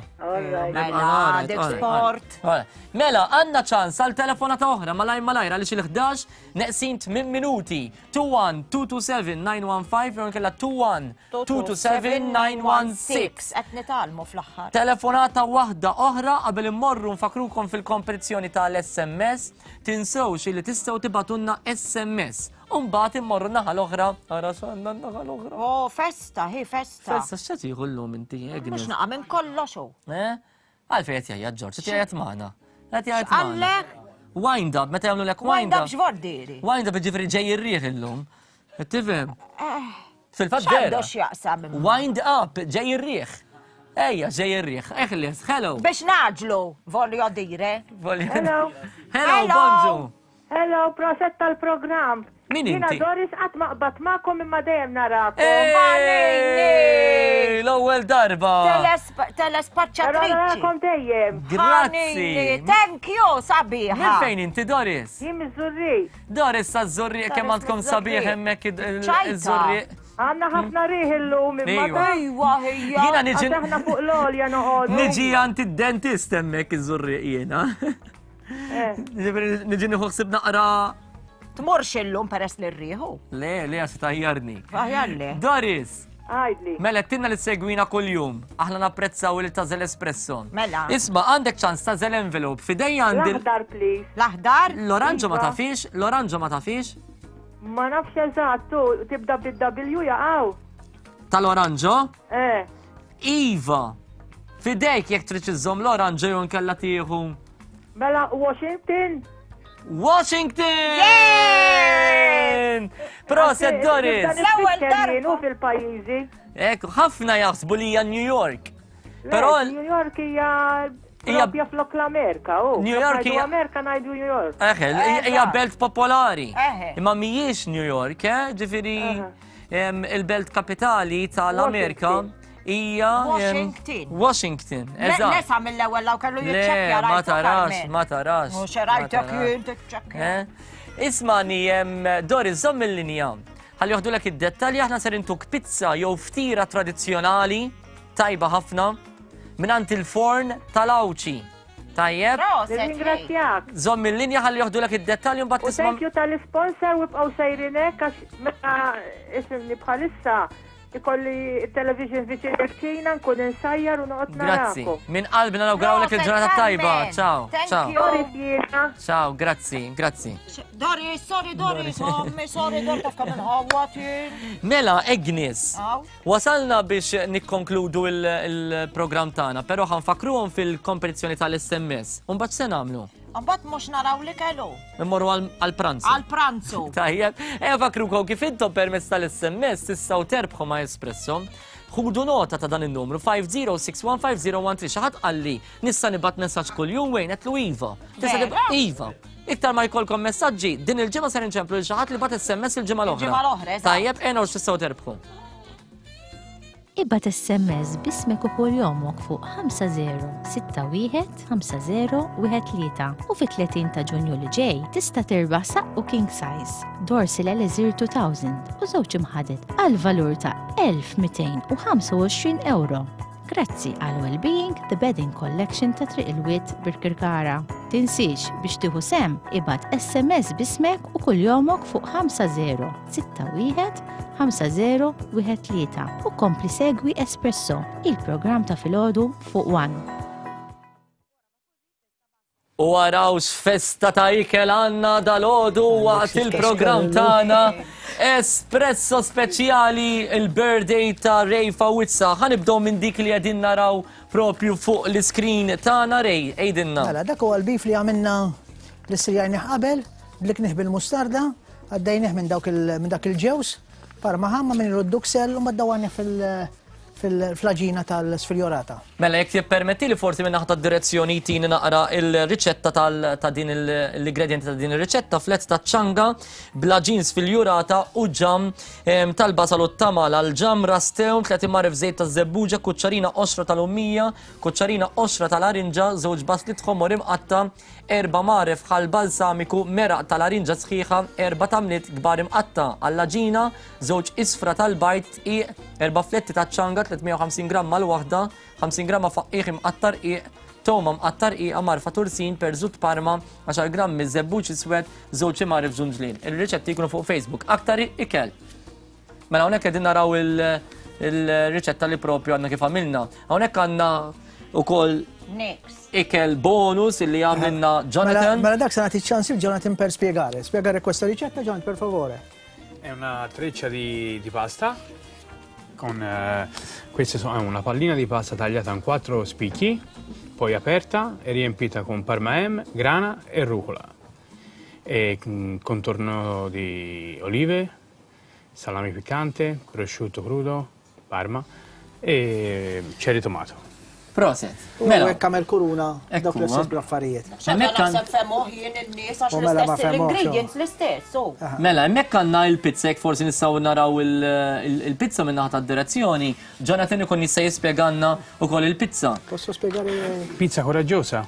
Mela, dik sport. Mela, għanna ċans għal telefonata oħra malajr malajr għaliex il-11 neqsin 8 minuti. 21 227 915 jew inkella 21 227 916. Qed nitgħallmu fl-aħħar. Telefonata waħda oħra qabel immorru nfakrukom fil-kompetizzjoni tal-SMS. Tinsewx li tistgħu tibatunna SMS. U mbagħad immorru naħa l-oħra. Ara x'għandna n-naħa l-oħra. Oh, festa, hi festa. Festa x'qed jieħu llum inti, Agnes? Mhux naqa' minn kollox hu. Eh? Għalfejn qed jgħajjat Ġorġ, qed jgħajjat magħna. Qed jgħajjat magħna. X'qallek? Wind up, meta jagħmlu lek Wind wind up up. x'vordieri. Wind up jiġifieri ġej ir-riħ illum. Tifhem? Eh, Fil-fatt X'għandu vera. x'jaqsam imma? Wind up, ġej ir-riħ. Ejja, ġej ir-riħ, eħles, hello. Biex naġlu, voglio dire. Hello. Hello, bonġu. Hello, proset tal-programm. Min Jiena inti? Doris qatt ma qbadt magħkom imma dejjem narakom. Ej, L-ewwel darba. Telespaċċatriċi. Però narakom dejjem. Grazzi. Thank you, sabiħa. Minn fejn inti Doris? Jien miż-Żurrieq. Doris sa żurrieq kemm Doris għandkom miż-Żurrieq. sabiħ hemmhekk Ċajta. iż-żurrieq. Għandna ħafna riħ illum imma. Iva. Iwa, ħija. Jiena niġi- Għax aħna fuq l-għolja noqogħdu. Niġi għand id-dentist hemmhekk iż-żurrieq jiena. Eh. Ġifieri niġi nieħu ħsieb naqra. Tmurx illum peress li rriħu. Le, le għax tajjarni. Aħjar le. Doris! Għajdli. Mela, tinna li segwina kull-jum. Aħna napprezzaw li tażel espresso. Mela. Isma, għandek ċans tażel envelope. Fidejja għandi. L-aħdar, please. L-aħdar? L-oranġo ma Iva. tafix, l-oranġo ma tafix. Ma nafx eżatt, tu tibda bid-W jaqaw. Tal-oranġo? Eh. Iva. Fidejk jekk trid iżżomm l-oranġo jew nkella tieħu. Mela Washington. Washington! Proset Doris! L-ewwel darba fil-pajjiżi. Ekku, ħafna jaħsbu li hija New York. Però New York hija propja flok l-Amerika, oh. New York hija Amerika ngħidu New York. Eħe, hija belt popolari. Eħe. Imma mhijiex New York, eh? Ġifieri il-belt kapitali tal-Amerika hija Washington. Washington, eżatt. Nesa mill-ewwel law kellu Le, jiċċekkja ma tarax, ma tarax. Mhux ma rajtek tarax. jien tiċċekkja. Eh? Ismani, Doris, żomm il-linja. Ħalli joħdulek id-dettalji aħna ser intuk pizza jew ftira tradizzjonali tajba ħafna mingħand il-forn tal-Awċi. Tajjeb? Nirringrazzjak. Żomm il-linja ħalli joħdulek id-dettalji mbagħad U tisma' thank you tal-sponsor u bqgħu sejrin hekk għax meta isimni bħalissa ikolli television viċin il-kċina nkun insajjar u noqgħod Grazzi. narakom. Minn qalbna nawgurawlek il-ġurnata tajba. Ciao. Ciao. Doris jiena. Ciao, grazzi, grazzi. Doris, sorry Doris, ommi, sorry Doris, taf kemm inħawwat jien. Mela, Agnes, Aw. wasalna biex nikkonkludu il-programm tagħna, però ħanfakruhom fil-kompetizzjoni tal-SMS. U mbagħad se nagħmlu? Mbagħad mhux naraw li kellu. Immorru għal-pranzu. Għal-pranzu. Tajjeb, ejja fakrukom kif intom permezz tal-SMS tistgħu terbħu ma' Espresso. Ħudu nota ta' dan in-numru 50615013. Xi ħadd qalli nista' nibgħat messaġġ kuljum wejn qed iva. Tista' Vera? Iva. Iktar ma jkollkom messaġġi, din il-ġimgħa ser inċemplu lil xi ħadd li bagħat SMS il-ġimgħa l-oħra. Il-ġimgħa l-oħra, eżatt. Tajjeb, ejja naraw x'tistgħu terbħu. Ibgħat SMS b'ismek u kuljomok fuq 5061 5013 u fit-30 ta' Ġunju li ġej tista' tirbaħ saqqu king size, Dorsil Elixir 2000 u żewġ imħaded għal valur ta' 1225 euro. Grazzi għal Wellbeing The Bedding Collection ta' Triq il-Wied Birkirkara. Tinsiex biex tieħu sehem ibgħat SMS b'ismek u kuljomok fuq 5061 5013 u kompli segwi Espresso, il-programm ta' filgħodu fuq One. U araw x'festa ta' ikel għandna dalgħodu waqt il-programm tagħna Espresso speċjali il-birthday ta' Ray Fawizza. Ħa nibdew minn dik li qegħdin naraw propju fuq l-iskrin tagħna Ray, għidilna. Mela, dak huwa l-bif li għamilna li sirjajnih qabel, bliknih bil-mustarda, għaddejnih minn dawk il- minn dak il-ġewż, parma ħamma minn il-duksel u maddawanih fil- fil-flaġina tal-sfiljorata. Mela, jekk tippermetti li forsi minn naħa tad-direzzjoni jtini naqra il-riċetta ta' din l-ingredienti ta' din ir-riċetta, flett ta' ċanga, bla ġins filjurata u ġam tal-basal u t-tamal għal ġam rastew, 30 marif żejt ta' żebbuġa, kuċċarina qoxra tal-ummija, kuċċarina qoxra tal-arinġa, żewġ baslit ħomor imqatta, erba' marif ħal balsamiku, meraq tal-arinġa sħiħa, erba' tamliet kbar imqatta għall-għaġina, żewġ isfra tal-bajd, dqiq, erba' fletti ta' ċanga, 350 gramma l-waħda, 50 gramma faqqiegħ imqatta' rqiq, toma mqatta' rqiqa, marfa tursin, perżut parma, 10 grammi żebbuġ iswed, żewġ imgħaref ġunġlien. Il-riċetti jkunu fuq Facebook. Aktar ikel. Mela hawnhekk qegħdin naraw il-riċetta li propju għandna kif għamilna. Hawnhekk għandna ukoll Next. ikel bonus illi għamilna Jonathan. Mela, mela dak se nagħti ċans il Jonathan per spiegare. Spiegare questa ricetta, Jonathan, per favore. È una treccia di, di pasta con eh, queste sono è una pallina di pasta tagliata in quattro spicchi, poi aperta e riempita con parma ham, grana e rucola. E contorno di olive, salame piccante, prosciutto crudo, parma E cherry tomato. Proset. Mela. U hekk għamel kuruna dawk l-istess bl-affarijiet. Hemmhekk naħseb femuh jien in-nies għax mela l-istess l-ingredients l-istess. Mela, hemmhekk għandna il-pizza jekk forsi nistgħu naraw il-pizza minn naħa tad-direzzjoni. Jonathan ikun jista' jispjegalna wkoll il-pizza. Posso spiegare? Pizza coraggiosa.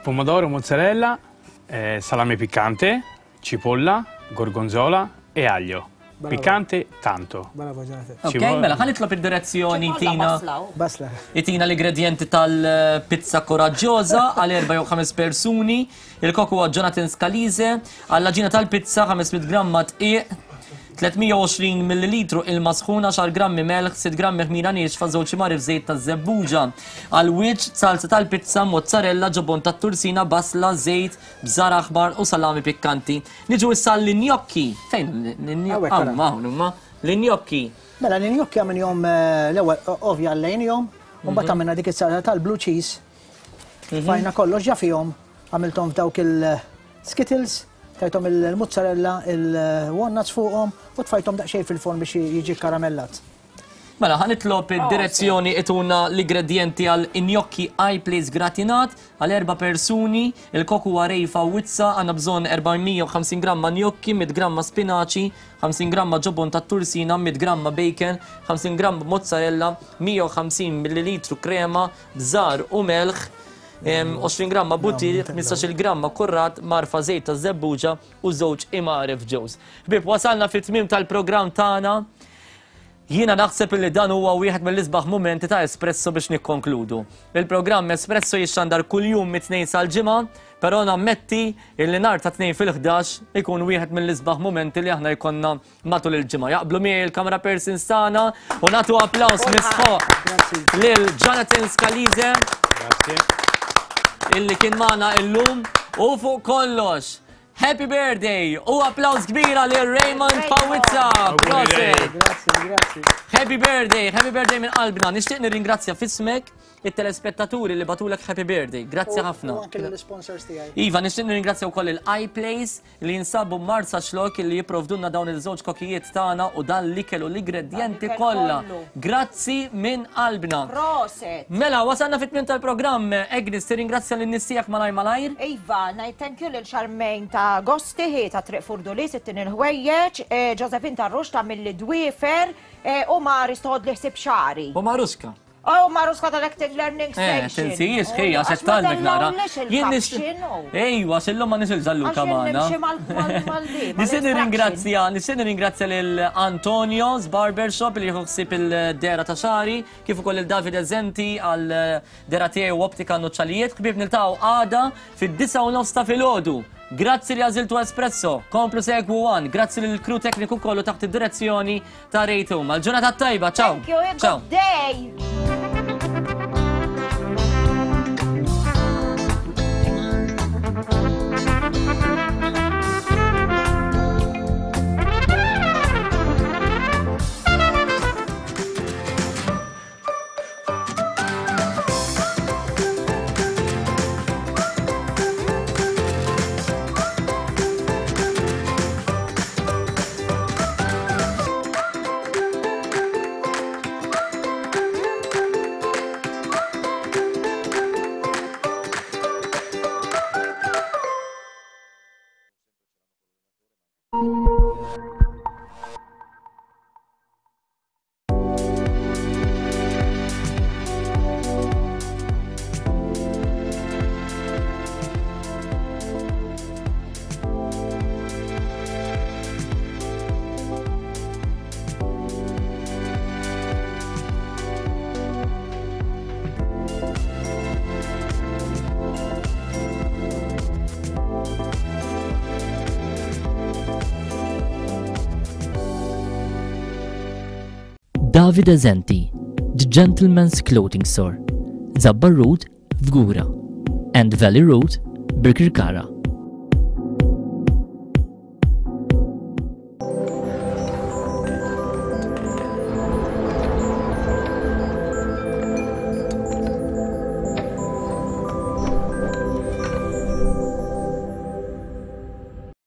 Pomodoro, mozzarella, eh, salame piccante, cipolla, gorgonzola e aglio. Bravo. Piccante tanto. Bravo Jonathan. Ok, mela ħa nitlob id-direzzjoni tina. Basla. Itina l-ingredienti tal-pizza koraġġjoża għal erba' jew ħames persuni. Il-kok huwa Jonathan Scalise. Għall-għaġina tal-pizza 500 gramma dqiq, 320 millilitru ilma sħun, 10 grammi melħ, 6 grammi ħmira niexfa, żewġ imgħarif żejt taż-żebbuġa. Għall-wiċċ, salza tal-pizza, mozzarella, ġobon tat-tursina, basla, żejt, bżar aħmar u salami pikkanti. Niġu issa għall-injokki. Fejn l-injokki? Hawn hawn huma l-injokki. Mela l-injokki għamilhom eh, l-ewwel ovvja għallejnihom, u mbagħad mhm. għamilna dik is-salsa tal-blue cheese. Mhm. Fajna kollox ġa fihom, għamilthom f'dawk il-skittles, tajthom il-mozzarella, il-walnuts fuqhom u tfajthom daqsxejn fil-forn biex jiġi karamellat. Mela, ħa nitlob id-direzzjoni ituna l-igredjenti għal gnocchi iPlace gratinat għal erba' persuni. Il-kok huwa Ray Fawizza, għandna bżonn 450 gramma gnocchi, 100 gramma spinaċi, 50 gramma ġobon tat-tursina, 100 gramma bacon, 50 gramma mozzarella, 150 millilitru krema, bżar u melħ, 20 gramma butir, 15-il gramma kurrat, marfa żejt taż-żebbuġa u żewġ imgħaref ġewż. Ħbieb, wasalna fit-tmiem tal-programm tagħna. Jiena naħseb illi dan huwa wieħed mill-isbaħ mumenti ta' Espresso biex nikkonkludu. Il-programm Espresso jixxandar kuljum mit-Tnejn sal-Ġimgħa, però nammetti illi nhar ta' Tnejn fil-ħdax ikun wieħed mill-isbaħ mumenti li aħna jkollna matul il-ġimgħa. Jaqblu miegħi il-camera persons tagħna u nagħtu applaws misħoq lil Jonathan Scalise illi kien magħna illum u fuq kollox Happy birthday u applaus kbira lil Raymond Pawizza. Proset. Grazzi, grazzi. Happy birthday, happy birthday minn qalbna. Nixtieq nirringrazzja fismek it-telespettaturi li batulek happy birthday. Grazzi ħafna. U anke l-sponsors tiegħi. Iva, nixtieq nirringrazzja wkoll il-iPlace li jinsabu Marsa Xlok li jipprovdunna dawn il-żewġ kokijiet tagħna u dan l-ikel u l-ingredjenti kollha. Grazzi minn qalbna. Proset. Mela, wasalna fit-tmiem tal-programm. Agnes, tirringrazzja lin-nies tiegħek malajr malajr? Iva, ngħid thank you lil Charmaine ta' Gosti, hi ta' Triq Furdulis, ittini l-ħwejjeġ, Josephine ta' Rux ta' Milli Dwiefer, u Maris toħodli ħsieb xagħri. U Maruska. U Maruska tal-Acting Learning Eh, Station. tinsijiex, ħi, għax qed tgħallmek nara. Jien nix. Ejwa, għax illum ma nix il-Ġalluka magħna. Nixtieq nirringrazzja, nixtieq nirringrazzja lil Antonio's Barbershop li jieħu ħsieb il-dera ta' xagħri. Kif ukoll lil Davide Zenti għal dera tiegħi u optika nuċċalijiet. Ħbieb niltaqgħu għada fid-9 u nofs ta' filgħodu. Grazzi li għażiltu Espresso. Komplu segwu One. Grazzi lil crew tekniku kollu taħt id-direzzjoni ta' Ray Tuma. L-ġurnata tajba, ciao. Thank you, and good day. Davide Zenti, The Gentleman's Clothing Store, Zabbar Road, Fgura, and Valley Road, Birkirkara.